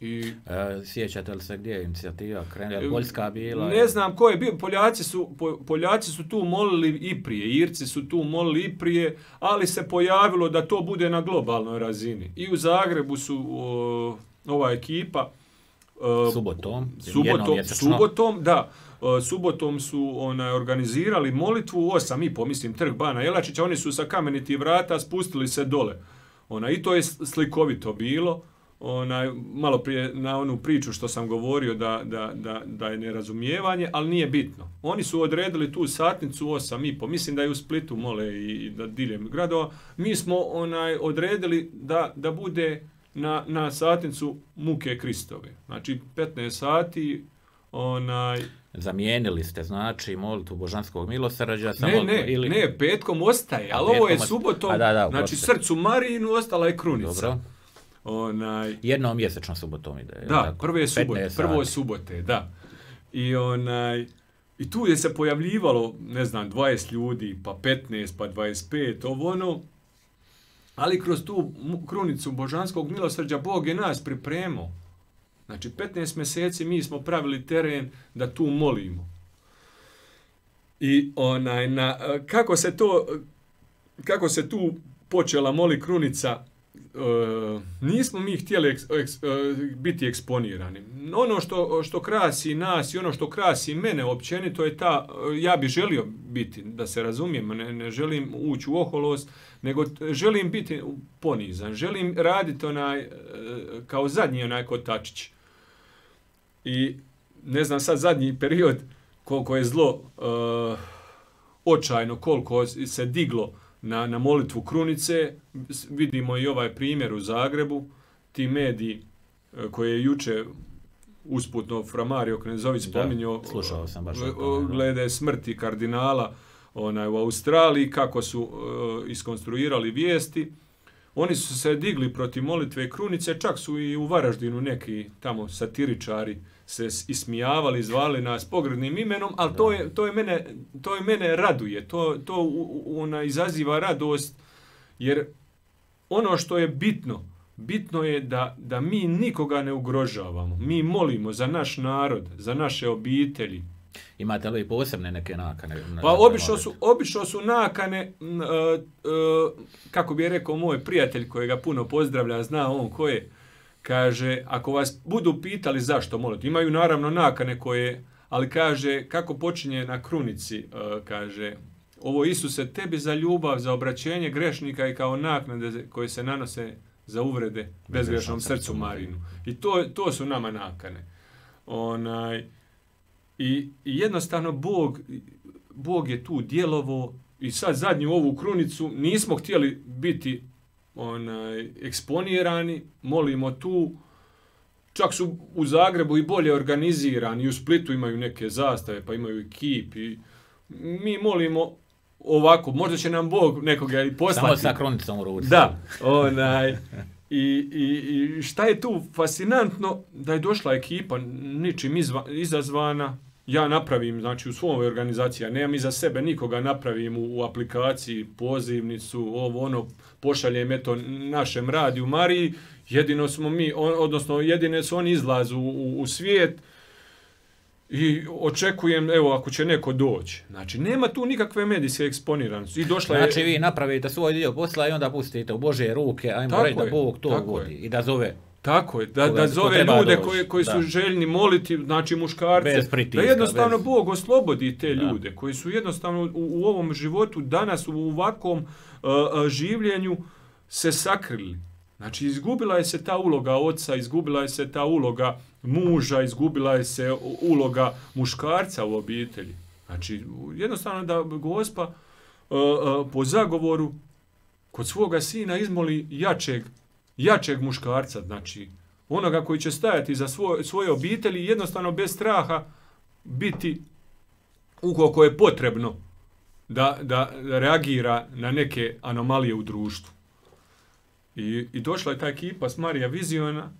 I E, sjećate li se gdje je inicijativa krenula? Je li Poljska bila? ne znam ko je bio, Poljaci su, po, Poljaci su tu molili i prije, Irci su tu molili i prije, ali se pojavilo da to bude na globalnoj razini. I u Zagrebu su o, ova ekipa o, Subotom, subotom, subotom, da, o, subotom su onaj, organizirali molitvu osam i po, mislim, trg Bana Jelačića, oni su sa kamenitih vrata spustili se dole. Ona, i to je slikovito bilo. Onaj, malo prije na onu priču što sam govorio da, da, da, da je nerazumijevanje, ali nije bitno. Oni su odredili tu satnicu osam i po, mislim da je u Splitu mole i, i da diljem gradova. Mi smo onaj odredili da, da bude na, na satnicu muke Kristove. Znači petnaest sati onaj... Zamijenili ste, znači, molitvu božanskog milosrđa sa Ne, molitvom, ne, ili... ne, petkom ostaje, ali petkom ovo je ostaje. subotom, A, da, da, znači oprosti. srcu Marijinu ostala je krunica. Dobro. Onaj, Jednom mjesečno subotom ide. da, tako? prve subote, petnaest prvo sati. subote, da. I onaj, i tu je se pojavljivalo, ne znam, dvadeset ljudi, pa petnaest, pa dvadeset pet, ovo ono. Ali kroz tu krunicu božanskog milosrđa Bog je nas pripremao. Znači, petnaest mjeseci mi smo pravili teren da tu molimo. I onaj, na, kako se to, kako se tu počela moli krunica, e, nismo mi htjeli eks, eks, e, biti eksponirani. Ono što, što krasi nas i ono što krasi mene općenito je ta, ja bi želio biti, da se razumijemo, ne, ne želim ući u oholost, nego želim biti ponizan, želim raditi onaj, kao zadnji onaj kotačić. I ne znam sad zadnji period koliko je zlo uh, očajno, koliko se diglo na, na molitvu krunice, vidimo i ovaj primjer u Zagrebu, ti mediji uh, koje je juče usputno Fra Mario Knezović spominjao, slušao sam baš glede smrti kardinala onaj, u Australiji, kako su uh, iskonstruirali vijesti. Oni su se digli protiv molitve krunice, čak su i u Varaždinu neki tamo satiričari se ismijavali, zvali nas pogrdnim imenom, ali to je, to je mene, to je mene raduje, to, to ona izaziva radost, jer ono što je bitno, bitno je da, da mi nikoga ne ugrožavamo. Mi molimo za naš narod, za naše obitelji. Imate li posebne neke nakane? Pa obično su, obično su nakane, uh, uh, kako bi rekao moj prijatelj kojega puno pozdravlja, zna on ko je, kaže, ako vas budu pitali zašto molite, imaju naravno nakane koje, ali kaže, kako počinje na krunici, uh, kaže, ovo Isuse, tebi za ljubav, za obraćenje grešnika i kao naknade koje se nanose za uvrede bezgrešnom srcu Marinu. I to, to su nama nakane. Onaj, i, i jednostavno Bog, Bog je tu djelovo i sad zadnju ovu krunicu nismo htjeli biti onaj, eksponirani, molimo tu, čak su u Zagrebu i bolje organizirani, i u Splitu imaju neke zastave, pa imaju i kip, i mi molimo ovako, možda će nam Bog nekoga i poslati. Samo sa krunicom u ruci. Da, onaj, i, i, i šta je tu fascinantno, da je došla ekipa ničim izva, izazvana, ja napravim, znači u svojoj organizaciji, ja nemam iza sebe nikoga, napravim u, u aplikaciji pozivnicu, ovo ono, pošaljem eto našem radiju Mariji, jedino smo mi, on, odnosno jedine su oni izlazu u, u, u svijet i očekujem, evo, ako će neko doći. Znači, nema tu nikakve medijske eksponiranosti. I došla znači, je... vi napravite svoj dio posla i onda pustite u Božje ruke, ajmo reći da Bog to vodi i da zove. Tako je, da, da zove ljude koji, koji su željni moliti, znači muškarce, pritiska, da jednostavno bez... Bog oslobodi te ljude da. Koji su jednostavno u, u ovom životu danas u ovakvom uh, življenju se sakrili. Znači izgubila je se ta uloga oca, izgubila je se ta uloga muža, izgubila je se uloga muškarca u obitelji. Znači jednostavno da Gospa uh, uh, po zagovoru kod svoga sina izmoli jačeg jačeg muškarca, znači onoga koji će stajati za svoj, svoje obitelji i jednostavno bez straha biti ukoliko je potrebno da, da reagira na neke anomalije u društvu. I, i došla je ta ekipa s Marija Viziona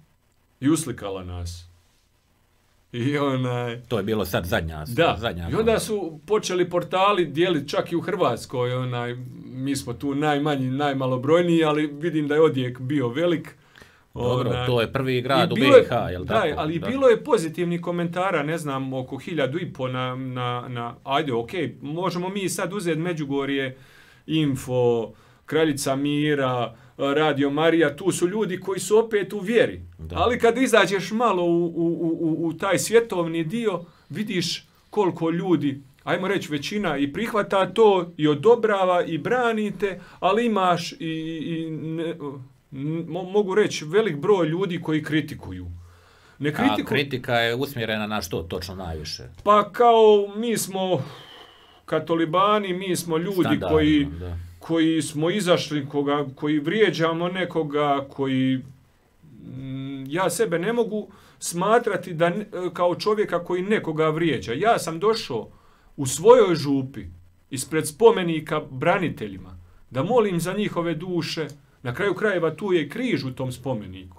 i uslikala nas. I onaj... To je bilo sad zadnja. Da, zadnja i onda su počeli portali dijeliti čak i u Hrvatskoj. Onaj, mi smo tu najmanji, najmalobrojniji, ali vidim da je odjek bio velik. Dobro, onaj, to je prvi grad u B i H, jel da, tako? Da, ali da. Bilo je pozitivnih komentara, ne znam, oko hiljadu i po na, na, na ajde, okej, okay, možemo mi sad uzeti Međugorje, Info, Kraljica Mira, Radio Marija, tu su ljudi koji su opet u vjeri. Da. Ali kad izađeš malo u, u, u, u taj svjetovni dio, vidiš koliko ljudi, ajmo reći većina, i prihvata to, i odobrava, i branite, ali imaš i, i ne, mogu reći velik broj ljudi koji kritikuju. Ne kritiku... A kritika je usmjerena na što točno najviše? Pa kao mi smo katolibani, mi smo ljudi Standardno, koji... Da. koji smo izašli, koga, koji vrijeđamo nekoga, koji m, ja sebe ne mogu smatrati da, kao čovjeka koji nekoga vrijeđa. Ja sam došao u svojoj župi ispred spomenika braniteljima da molim za njihove duše, Na kraju krajeva tu je križ u tom spomeniku.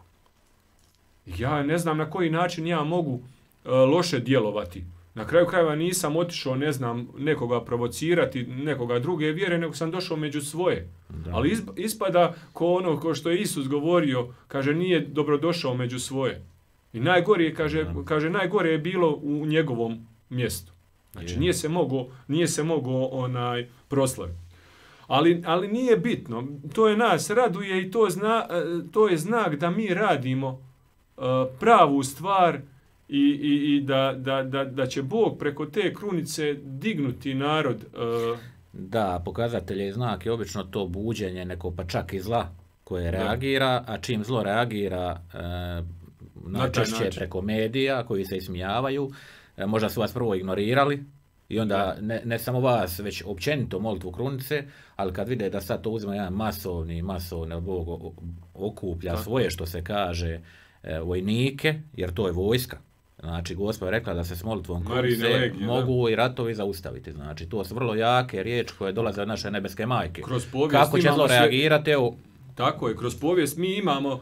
Ja ne znam na koji način ja mogu uh, loše djelovati. Na kraju krajeva nisam otišao, ne znam, nekoga provocirati, nekoga druge vjere, nego sam došao među svoje. Da. Ali ispada ko ono ko što je Isus govorio, kaže nije dobrodošao među svoje. I najgore kaže, kaže najgore je bilo u njegovom mjestu. Znači je. nije se mogao, nije se mogao onaj proslaviti. Ali, ali nije bitno. To je nas raduje i to, zna, to je znak da mi radimo uh, pravu stvar i, i, i da, da, da, da će Bog preko te krunice dignuti narod. Uh, da, pokazatelj je znak i obično to buđenje neko pa čak i zla koje reagira, a čim zlo reagira uh, najčešće preko medija koji se ismijavaju, uh, možda su vas prvo ignorirali, i onda ne, ne samo vas, već općenito molitvu krunice, ali kad vide da sad to uzima jedan masovni, masovni Bog okuplja tako. Svoje, što se kaže, e, vojnike, jer to je vojska. Znači, Gospod je rekla da se s molitvom krunice legije, mogu da. I ratovi zaustaviti. Znači, to su vrlo jake riječi koje dolaze od naše nebeske majke. Kako će zlo reagirati? Evo, tako je, kroz povijest mi imamo uh,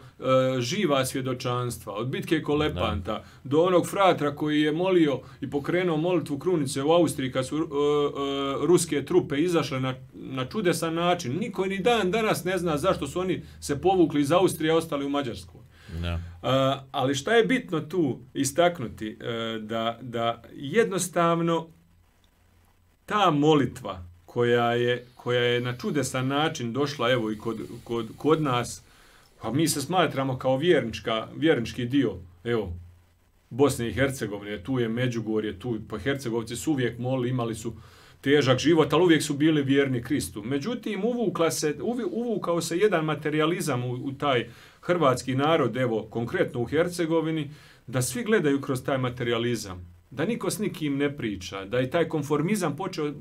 živa svjedočanstva, od bitke Kolepanta da. Do onog fratra koji je molio i pokrenuo molitvu krunice u Austriji kad su uh, uh, ruske trupe izašle na, na čudesan način. Niko ni dan danas ne zna zašto su oni se povukli iz Austrije i ostali u Mađarskoj. Da. Uh, ali šta je bitno tu istaknuti? Uh, da, da jednostavno ta molitva koja je, koja je na čudesan način došla evo i kod, kod, kod nas, a mi se smatramo kao vjernička, vjernički dio, evo, Bosne i Hercegovine, tu je Međugorje, tu, pa Hercegovci su uvijek molili, imali su težak život, ali uvijek su bili vjerni Kristu. Međutim, uvukla se, uvukao se jedan materializam u, u taj hrvatski narod, evo, konkretno u Hercegovini, da svi gledaju kroz taj materializam. Da niko s nikim ne priča, da je taj konformizam počeo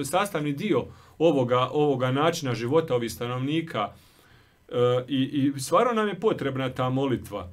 sastavni dio ovoga, ovoga načina života ovih stanovnika e, i, i stvarno nam je potrebna ta molitva.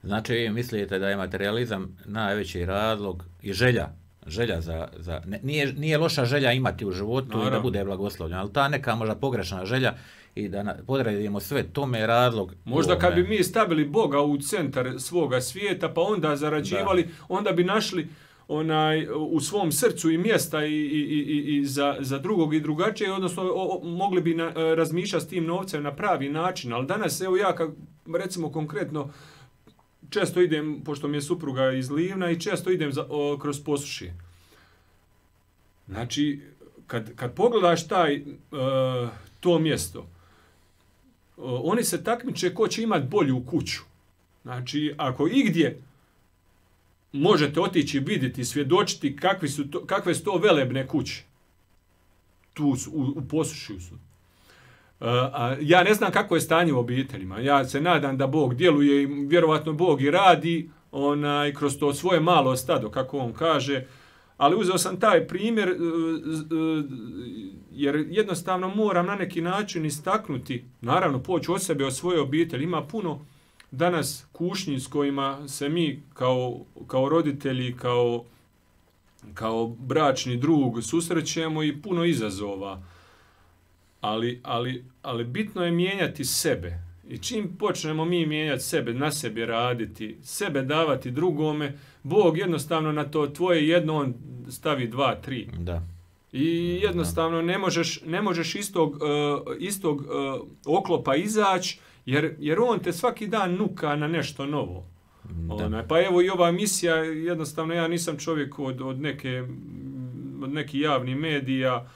Znači, vi mislite da je materializam najveći razlog i želja, želja za, za ne, nije, nije loša želja imati u životu Naravno. I da bude blagoslovljen, ali ta neka možda pogrešna želja i da podredimo sve tome je razlog. Možda kad bi mi stavili Boga u centar svoga svijeta, pa onda zarađivali, da. Onda bi našli onaj u svom srcu i mjesta i, i, i, i za, za drugog i drugačije, odnosno o, o, mogli bi na, razmišljati s tim novcem na pravi način. Ali danas, evo ja, kak, recimo konkretno, često idem, pošto mi je supruga iz Livna, i često idem za, o, kroz Posušje. Znači, kad, kad pogledaš taj, uh, to mjesto, oni se takmiče ko će imati bolju kuću. Znači, ako igdje možete otići, vidjeti, svjedočiti kakvi su to, kakve su to velebne kuće, tu su, u, u Posušju su. Uh, a ja ne znam kako je stanje u obiteljima. Ja se nadam da Bog djeluje i vjerovatno Bog i radi onaj, kroz to svoje malo stado, kako on kaže. Ali uzeo sam taj primjer uh, uh, jer jednostavno moram na neki način istaknuti, naravno poći od sebe, od svoje obitelji. Ima puno danas kušnji s kojima se mi kao, kao roditelji, kao, kao bračni drug susrećemo i puno izazova. Ali, ali, ali bitno je mijenjati sebe. I čim počnemo mi mijenjati sebe, na sebi raditi, sebe davati drugome, Bog jednostavno na to tvoje jedno on stavi dva, tri. Da. I jednostavno ne možeš, ne možeš istog, uh, istog uh, oklopa izaći, jer, jer on te svaki dan nuka na nešto novo. Ona, pa evo i ova misija, jednostavno ja nisam čovjek od, od, neke, od nekih javnih medija.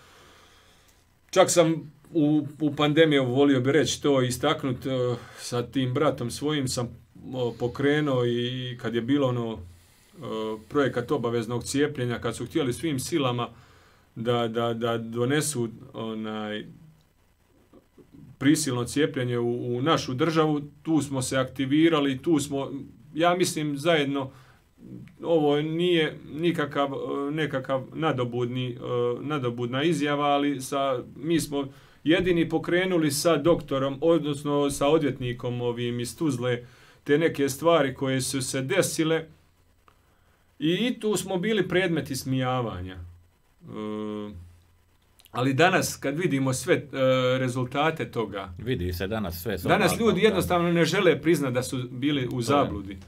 Čak sam u, u pandemiju, volio bi reći to, istaknut uh, sa tim bratom svojim sam uh, pokrenuo i kad je bilo ono uh, projekat obaveznog cijepljenja, kad su htjeli svim silama da, da, da donesu onaj prisilno cijepljenje u, u našu državu, tu smo se aktivirali, tu smo, ja mislim, zajedno, ovo nije nikakav nekakav nadobudni, nadobudna izjava, ali sa, mi smo jedini pokrenuli sa doktorom, odnosno sa odvjetnikom ovim iz Tuzle, te neke stvari koje su se desile i tu smo bili predmeti smijavanja. Ali danas, kad vidimo sve uh, rezultate toga, vidi se danas sve. Danas ljudi jednostavno ne žele priznati da su bili u zabludi.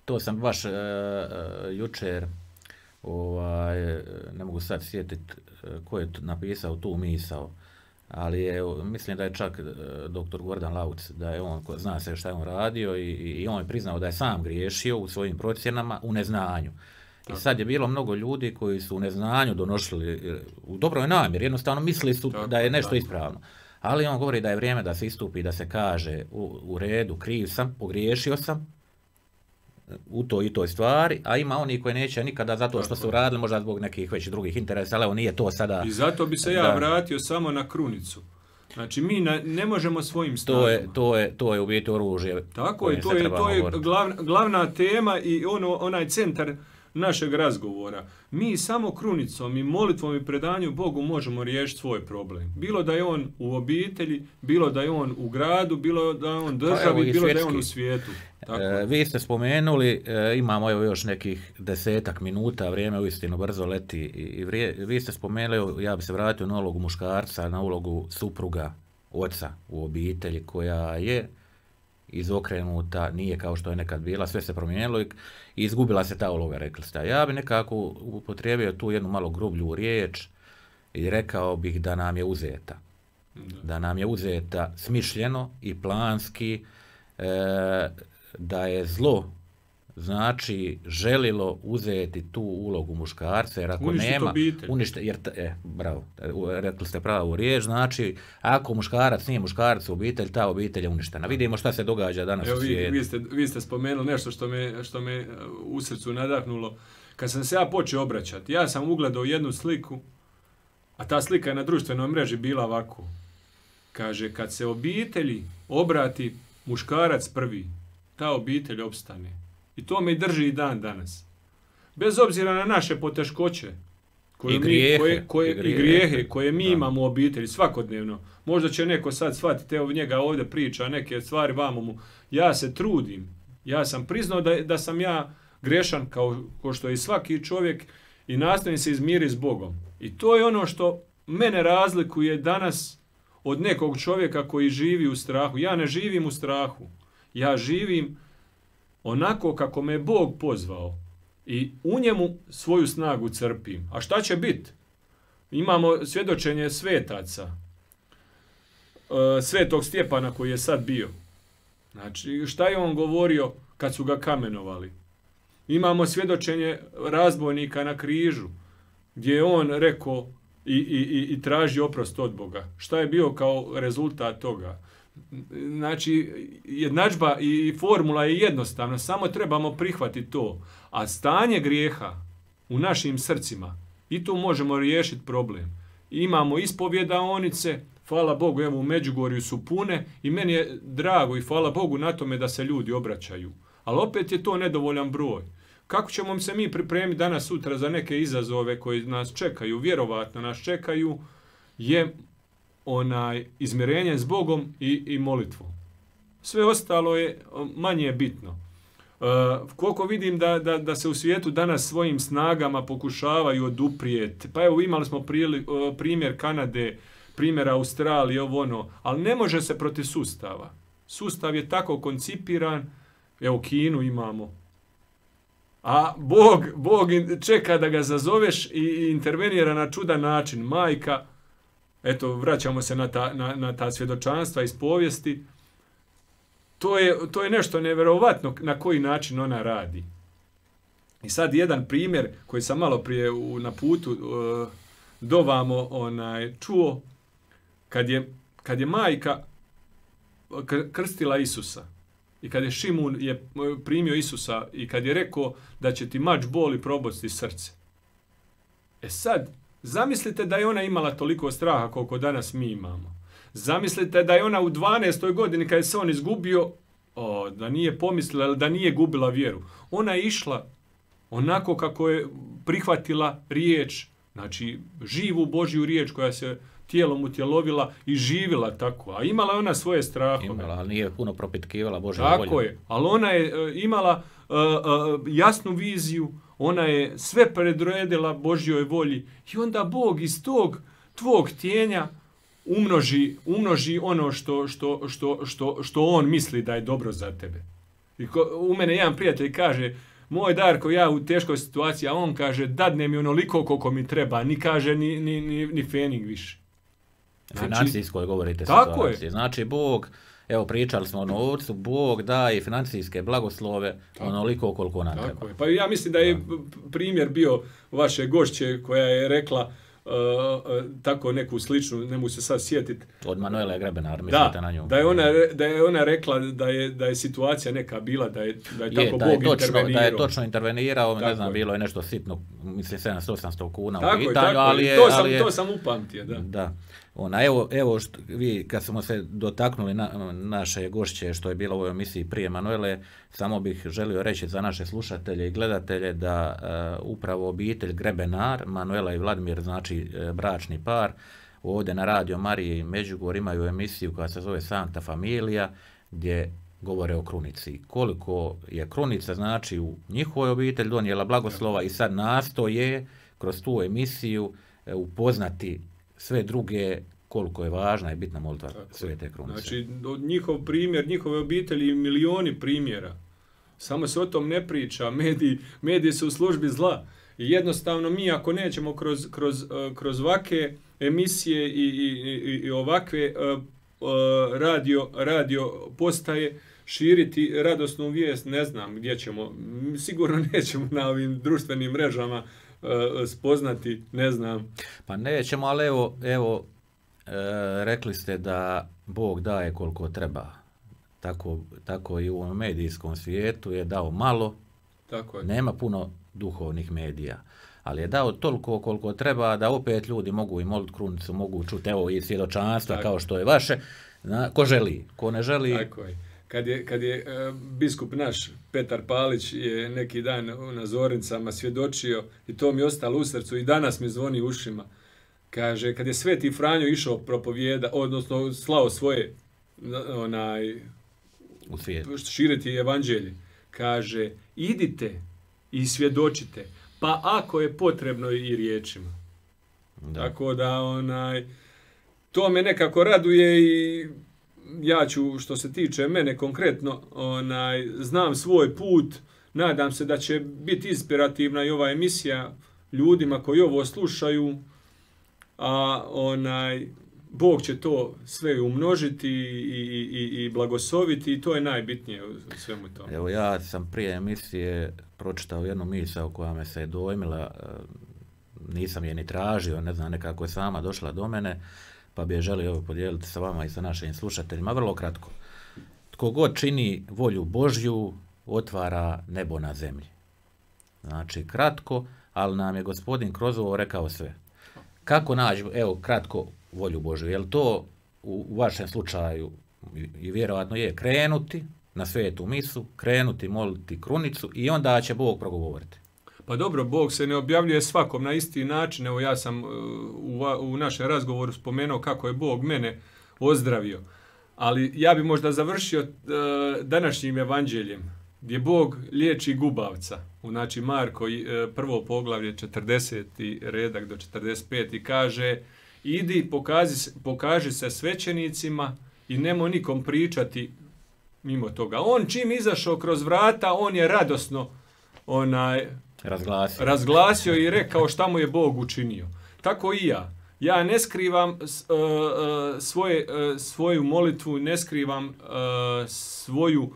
To sam baš uh, uh, jučer, ovaj, ne mogu sad sjetiti uh, ko je napisao tu misao, ali je, mislim da je čak uh, doktor Gordan Lauc, da je on, ko zna se šta je on radio i, i on je priznao da je sam griješio u svojim procjenama u neznanju. I sad je bilo mnogo ljudi koji su u neznanju donosili, u dobroj namjeri, jednostavno mislili su tako, da je nešto tako. Ispravno. Ali on govori da je vrijeme da se istupi, da se kaže u, u redu, kriv sam, pogriješio sam u toj i toj stvari, a ima oni koji neće nikada zato što tako. Su radili, možda zbog nekih već drugih interesa, ali evo nije to sada... I zato bi se ja da, vratio samo na krunicu. Znači, mi na, ne možemo svojim snagama. To je, to je, to je u biti oružje. Tako je, to je, to je glavna, glavna tema i ono, onaj centar našeg razgovora. Mi samo krunicom i molitvom i predanju Bogu možemo riješiti svoj problem. Bilo da je on u obitelji, bilo da je on u gradu, bilo da je on državi, bilo svjetski. Da je on u svijetu. Tako. E, vi ste spomenuli, e, imamo evo još nekih desetak minuta, vrijeme uistinu brzo leti i vrije, vi ste spomenuli, ja bi se vratio na ulogu muškarca, na ulogu supruga, oca u obitelji koja je izokrenuta, nije kao što je nekad bila, sve se promijenilo i izgubila se ta uloga, rekli ste. Ja bi nekako upotrijebio tu jednu malo grublju riječ i rekao bih da nam je uzeta. Da, da nam je uzeta smišljeno i planski, e, da je zlo, znači, želilo uzeti tu ulogu muškarca, jer ako uništit nema... Obitelj. Uništi jer e, bravo, rekli ste pravu riječ, znači, ako muškarac nije muškarac u obitelj, ta obitelj je uništena. Vidimo šta se događa danas Evo, u svijetu. Vi, vi, ste, vi ste spomenuli nešto što me, što me u srcu nadahnulo. Kad sam se ja počeo obraćati, ja sam ugledao jednu sliku, a ta slika je na društvenoj mreži bila ovako. Kaže, kad se obitelji obrati muškarac prvi, ta obitelj opstane. I to me drži i dan danas. Bez obzira na naše poteškoće koje I grijehe, mi, koje, koje, i grijehe, i grijehe koje mi da. imamo u obitelji svakodnevno. Možda će neko sad shvatiti, evo njega ovdje priča neke stvari vamo mu. Ja se trudim. Ja sam priznao da, da sam ja grešan kao, kao što je i svaki čovjek i nastojim se izmiriti s Bogom. I to je ono što mene razlikuje danas od nekog čovjeka koji živi u strahu. Ja ne živim u strahu. Ja živim onako kako me Bog pozvao i u njemu svoju snagu crpim. A šta će biti? Imamo svjedočenje svetaca. Svetog Stjepana koji je sad bio. Znači, šta je on govorio kad su ga kamenovali? Imamo svjedočenje razbojnika na križu gdje je on rekao i, i, i, i traži oprost od Boga. Šta je bio kao rezultat toga? Znači, jednadžba i formula je jednostavna, samo trebamo prihvatiti to. A stanje grijeha u našim srcima, i tu možemo riješiti problem. Imamo ispovjedaonice, hvala Bogu, evo u Međugorju su pune i meni je drago i hvala Bogu na tome da se ljudi obraćaju. Ali opet je to nedovoljan broj. Kako ćemo se mi pripremiti danas sutra za neke izazove koji nas čekaju, vjerovatno nas čekaju, je onaj izmirenje s Bogom i, i molitvom. Sve ostalo je manje bitno. Uh, koliko vidim da, da, da se u svijetu danas svojim snagama pokušavaju oduprijeti. Pa evo imali smo prili, uh, primjer Kanade, primjer Australije, ovo ono, ali ne može se protiv sustava. Sustav je tako koncipiran, evo Kinu imamo. A Bog, Bog čeka da ga zazoveš i intervenira na čudan način. Majka, eto, vraćamo se na ta, na, na ta svjedočanstva iz povijesti. To je, to je nešto nevjerovatno na koji način ona radi. I sad jedan primjer koji sam malo prije u, na putu uh, dovamo onaj, čuo, kad je, kad je majka krstila Isusa i kad je Šimun je primio Isusa i kad je rekao da će ti mač boli probodsti srce. E sad, zamislite da je ona imala toliko straha koliko danas mi imamo. Zamislite da je ona u dvanaestoj godini kad je se on izgubio, o, da nije pomislila, da nije gubila vjeru. Ona je išla onako kako je prihvatila riječ, znači živu Božju riječ koja se tijelom utjelovila i živila tako. A imala ona svoje strahove. Imala, ali nije puno propitkivala Božju volju. Tako je, ali ona je uh, imala uh, uh, jasnu viziju, ona je sve predredila Božjoj volji i onda Bog iz tog tvog htjenja umnoži, umnoži ono što, što, što, što, što on misli da je dobro za tebe. I ko, u mene jedan prijatelj kaže, moj Darko, ja u teškoj situaciji, a on kaže, dadne mi onoliko koliko mi treba, ni kaže ni, ni, ni, ni fening više. Znači, financijskoj govorite tako situacije. Je. Znači, Bog, evo pričali smo o novcu, Bog daje financijske blagoslove tako, onoliko koliko nam tako treba. Je. Pa ja mislim da je primjer bio vaše gošće koja je rekla uh, uh, tako neku sličnu, ne mogu se sad sjetiti. Od Manuele Grebenar, mislite na nju. Da je ona, da je ona rekla da je, da je situacija neka bila, da je, da je, je tako da Bog je točno, intervenirao. Da je točno intervenirao, tako ne znam, je. bilo je nešto sitno, mislim sedamsto osamsto kuna tako u pitanju, je, tako ali je... To sam, ali je, to sam upamtio, da. Da. Ona, evo, evo što, vi kad smo se dotaknuli na, naše gošće što je bilo u ovoj emisiji prije Manuele, samo bih želio reći za naše slušatelje i gledatelje da uh, upravo obitelj Grebenar, Manuela i Vladimir, znači uh, bračni par, ovdje na Radio Mariji i Međugor imaju emisiju koja se zove Sancta Familia, gdje govore o krunici. Koliko je krunica, znači, u njihovoj obitelji donijela blagoslova i sad nastoje kroz tu emisiju uh, upoznati sve druge, koliko je važna i bitna molitva Svete Krunice. Znači, njihov primjer, njihove obitelji, milioni primjera. Samo se o tom ne priča. Mediji, mediji su u službi zla. I jednostavno mi, ako nećemo kroz, kroz, kroz ovakve emisije i, i, i, i ovakve uh, uh, radio, radio postaje širiti radosnu vijest, ne znam gdje ćemo. Sigurno nećemo na ovim društvenim mrežama spoznati, ne znam. Pa nećemo, ali evo, evo e, rekli ste da Bog daje koliko treba. Tako, tako i u ovom medijskom svijetu je dao malo, tako je. Nema puno duhovnih medija, ali je dao toliko koliko treba da opet ljudi mogu i moliti krunicu, mogu čuti, evo i svjedočanstva kao što je vaše, na, ko želi, ko ne želi. Tako je. Kad je, kad je uh, biskup naš, Petar Palić, je neki dan na Zornicama svjedočio i to mi je ostalo u srcu i danas mi zvoni ušima. Kaže, kad je Sveti Franjo išao propovijeda, odnosno slao svoje onaj, u svijet, širiti evanđelje, kaže, idite i svjedočite, pa ako je potrebno i riječima. Da. Tako da, onaj, to me nekako raduje i ja ću, što se tiče mene konkretno, onaj, znam svoj put, nadam se da će biti inspirativna i ova emisija ljudima koji ovo slušaju, a onaj, Bog će to sve umnožiti i, i, i blagosloviti i to je najbitnije u svemu tome. Evo ja sam prije emisije pročitao jednu misao koja me se dojmila, nisam je ni tražio, ne znam, nekako je sama došla do mene, pa bi je želio podijeliti sa vama i sa našim slušateljima. Vrlo kratko. Tko god čini volju Božju, otvara nebo na zemlji. Znači, kratko, ali nam je gospodin kroz ovo rekao sve. Kako naći, evo, kratko, volju Božju? Je li to u, u vašem slučaju, i vjerojatno je, krenuti na svetu misu, krenuti, moliti krunicu i onda će Bog progovoriti? Pa dobro, Bog se ne objavljuje svakom na isti način. Evo ja sam u, u našem razgovoru spomenuo kako je Bog mene ozdravio. Ali ja bi možda završio uh, današnjim evanđeljem, gdje Bog liječi gubavca. Znači Marko, uh, prvo poglavlje, četrdeseti redak do četrdeset pet i kaže, idi, pokaži, pokaži se svećenicima i nemoj nikom pričati mimo toga. On čim izašao kroz vrata, on je radosno onaj, razglasio. razglasio i rekao šta mu je Bog učinio. Tako i ja. Ja ne skrivam uh, uh, svoje, uh, svoju molitvu, ne skrivam uh, svoju,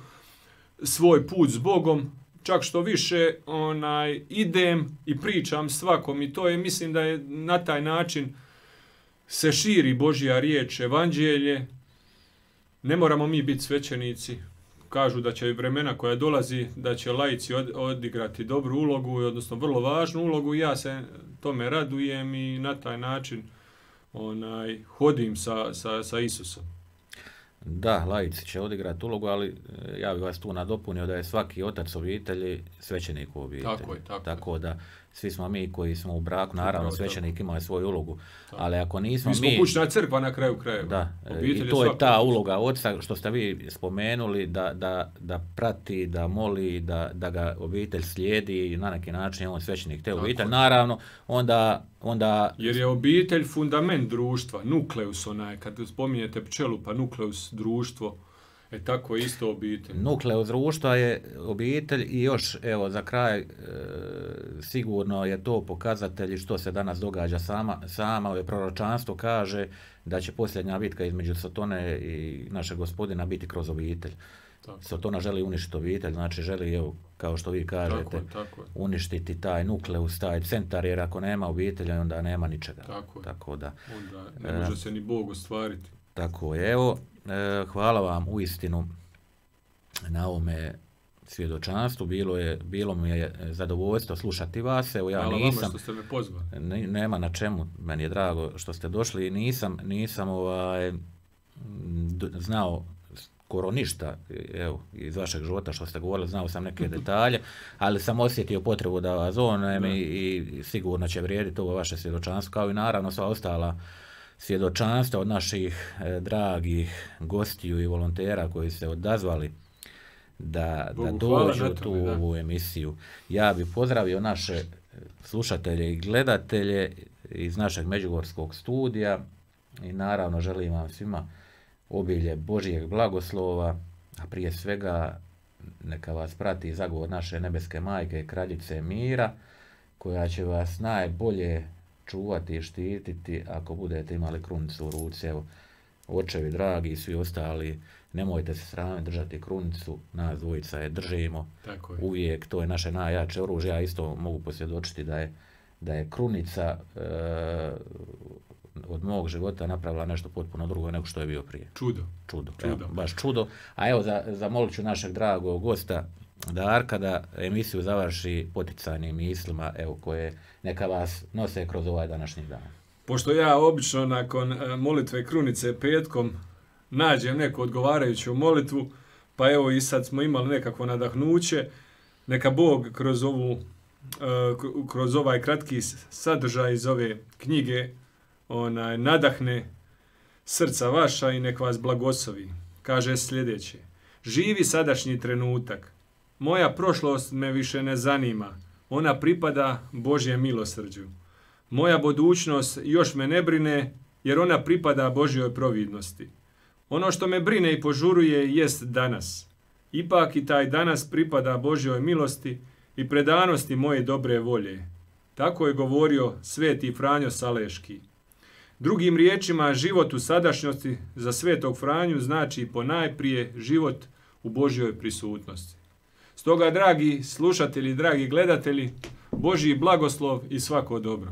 svoj put s Bogom, čak što više onaj, idem i pričam svakom i to je, mislim da je na taj način se širi Božja riječ, evanđelje. Ne moramo mi biti svećenici. Kažu da će vremena koja dolazi, da će laici odigrati dobru ulogu, odnosno vrlo važnu ulogu. Ja se tome radujem i na taj način onaj, hodim sa, sa, sa Isusom. Da, laici će odigrati ulogu, ali ja bih vas tu nadopunio da je svaki otac obitelji svećenik u obitelji. Tako je, tako. Tako da svi smo mi koji smo u braku, naravno svećenik ima svoju ulogu, tako. Ali ako nismo mi... mi... smo kućna crkva na kraju krajeva. Da, i to je, je ta uloga oca što ste vi spomenuli, da, da, da prati, da moli, da, da ga obitelj slijedi i na neki način je on svećenik te obitelj. Naravno, onda, onda... Jer je obitelj fundament društva, nukleus onaj, kad spominjete pčelu, pa nukleus društvo, e tako je isto obitelj. Nukleus društva je obitelj i još, evo, za kraj, e, sigurno je to pokazatelj što se danas događa sama, sama ove proročanstvo kaže da će posljednja bitka između Sotone i našeg Gospodina biti kroz obitelj. Tako. Sotona želi uništiti obitelj, znači želi, evo, kao što vi kažete, tako je, tako je. uništiti taj nukleus, taj centar, jer ako nema obitelja, onda nema ničega. Tako, tako da, onda ne može e, se ni Bog ostvariti. Tako je, evo, e, hvala vam u istinu na ovome svjedočanstvu, bilo, je, bilo mi je zadovoljstvo slušati vas, evo ja hvala nisam... Hvala vama što ste me pozvali. Ne, nema na čemu, meni je drago što ste došli i nisam, nisam ovaj, znao skoro ništa, evo, iz vašeg života što ste govorili, znao sam neke detalje, ali sam osjetio potrebu da vas zovem i, i sigurno će vrijediti ovo vaše svjedočanstvo, kao i naravno sva ostala svjedočanstva od naših e, dragih gostiju i volontera koji se odazvali da, da dođu u tu da. ovu emisiju. Ja bih pozdravio naše slušatelje i gledatelje iz našeg međugorskog studija i naravno želim vam svima obilje Božijeg blagoslova, a prije svega neka vas prati zagovor naše nebeske majke, kraljice mira, koja će vas najbolje čuvati i štititi ako budete imali krunicu u ruci. Evo, očevi dragi i svi ostali, nemojte se sramiti držati krunicu, nas dvojica je držimo. Tako je. Uvijek, to je naše najjače oružje. Ja isto mogu posvjedočiti da je, da je krunica e, od mog života napravila nešto potpuno drugo nego što je bio prije. Čudo. Čudo, čudo. Evo, baš čudo. A evo, za, zamolit ću našeg dragog gosta Darka da emisiju završi poticajnim mislima, evo, koje neka vas nose kroz ovaj današnji dan. Pošto ja obično nakon molitve krunice petkom nađem neku odgovarajuću molitvu, pa evo i sad smo imali nekakvo nadahnuće, neka Bog kroz ovu, kroz ovaj kratki sadržaj iz ove knjige onaj, nadahne srca vaša i nek vas blagoslovi. Kaže sljedeće: živi sadašnji trenutak. Moja prošlost me više ne zanima. Ona pripada Božjem milosrđu. Moja budućnost još me ne brine, jer ona pripada Božjoj providnosti. Ono što me brine i požuruje jest danas. Ipak i taj danas pripada Božjoj milosti i predanosti moje dobre volje. Tako je govorio sveti Franjo Saleški. Drugim riječima, život u sadašnjosti za svetog Franju znači ponajprije život u Božjoj prisutnosti. Stoga, dragi slušatelji, dragi gledatelji, Božji blagoslov i svako dobro.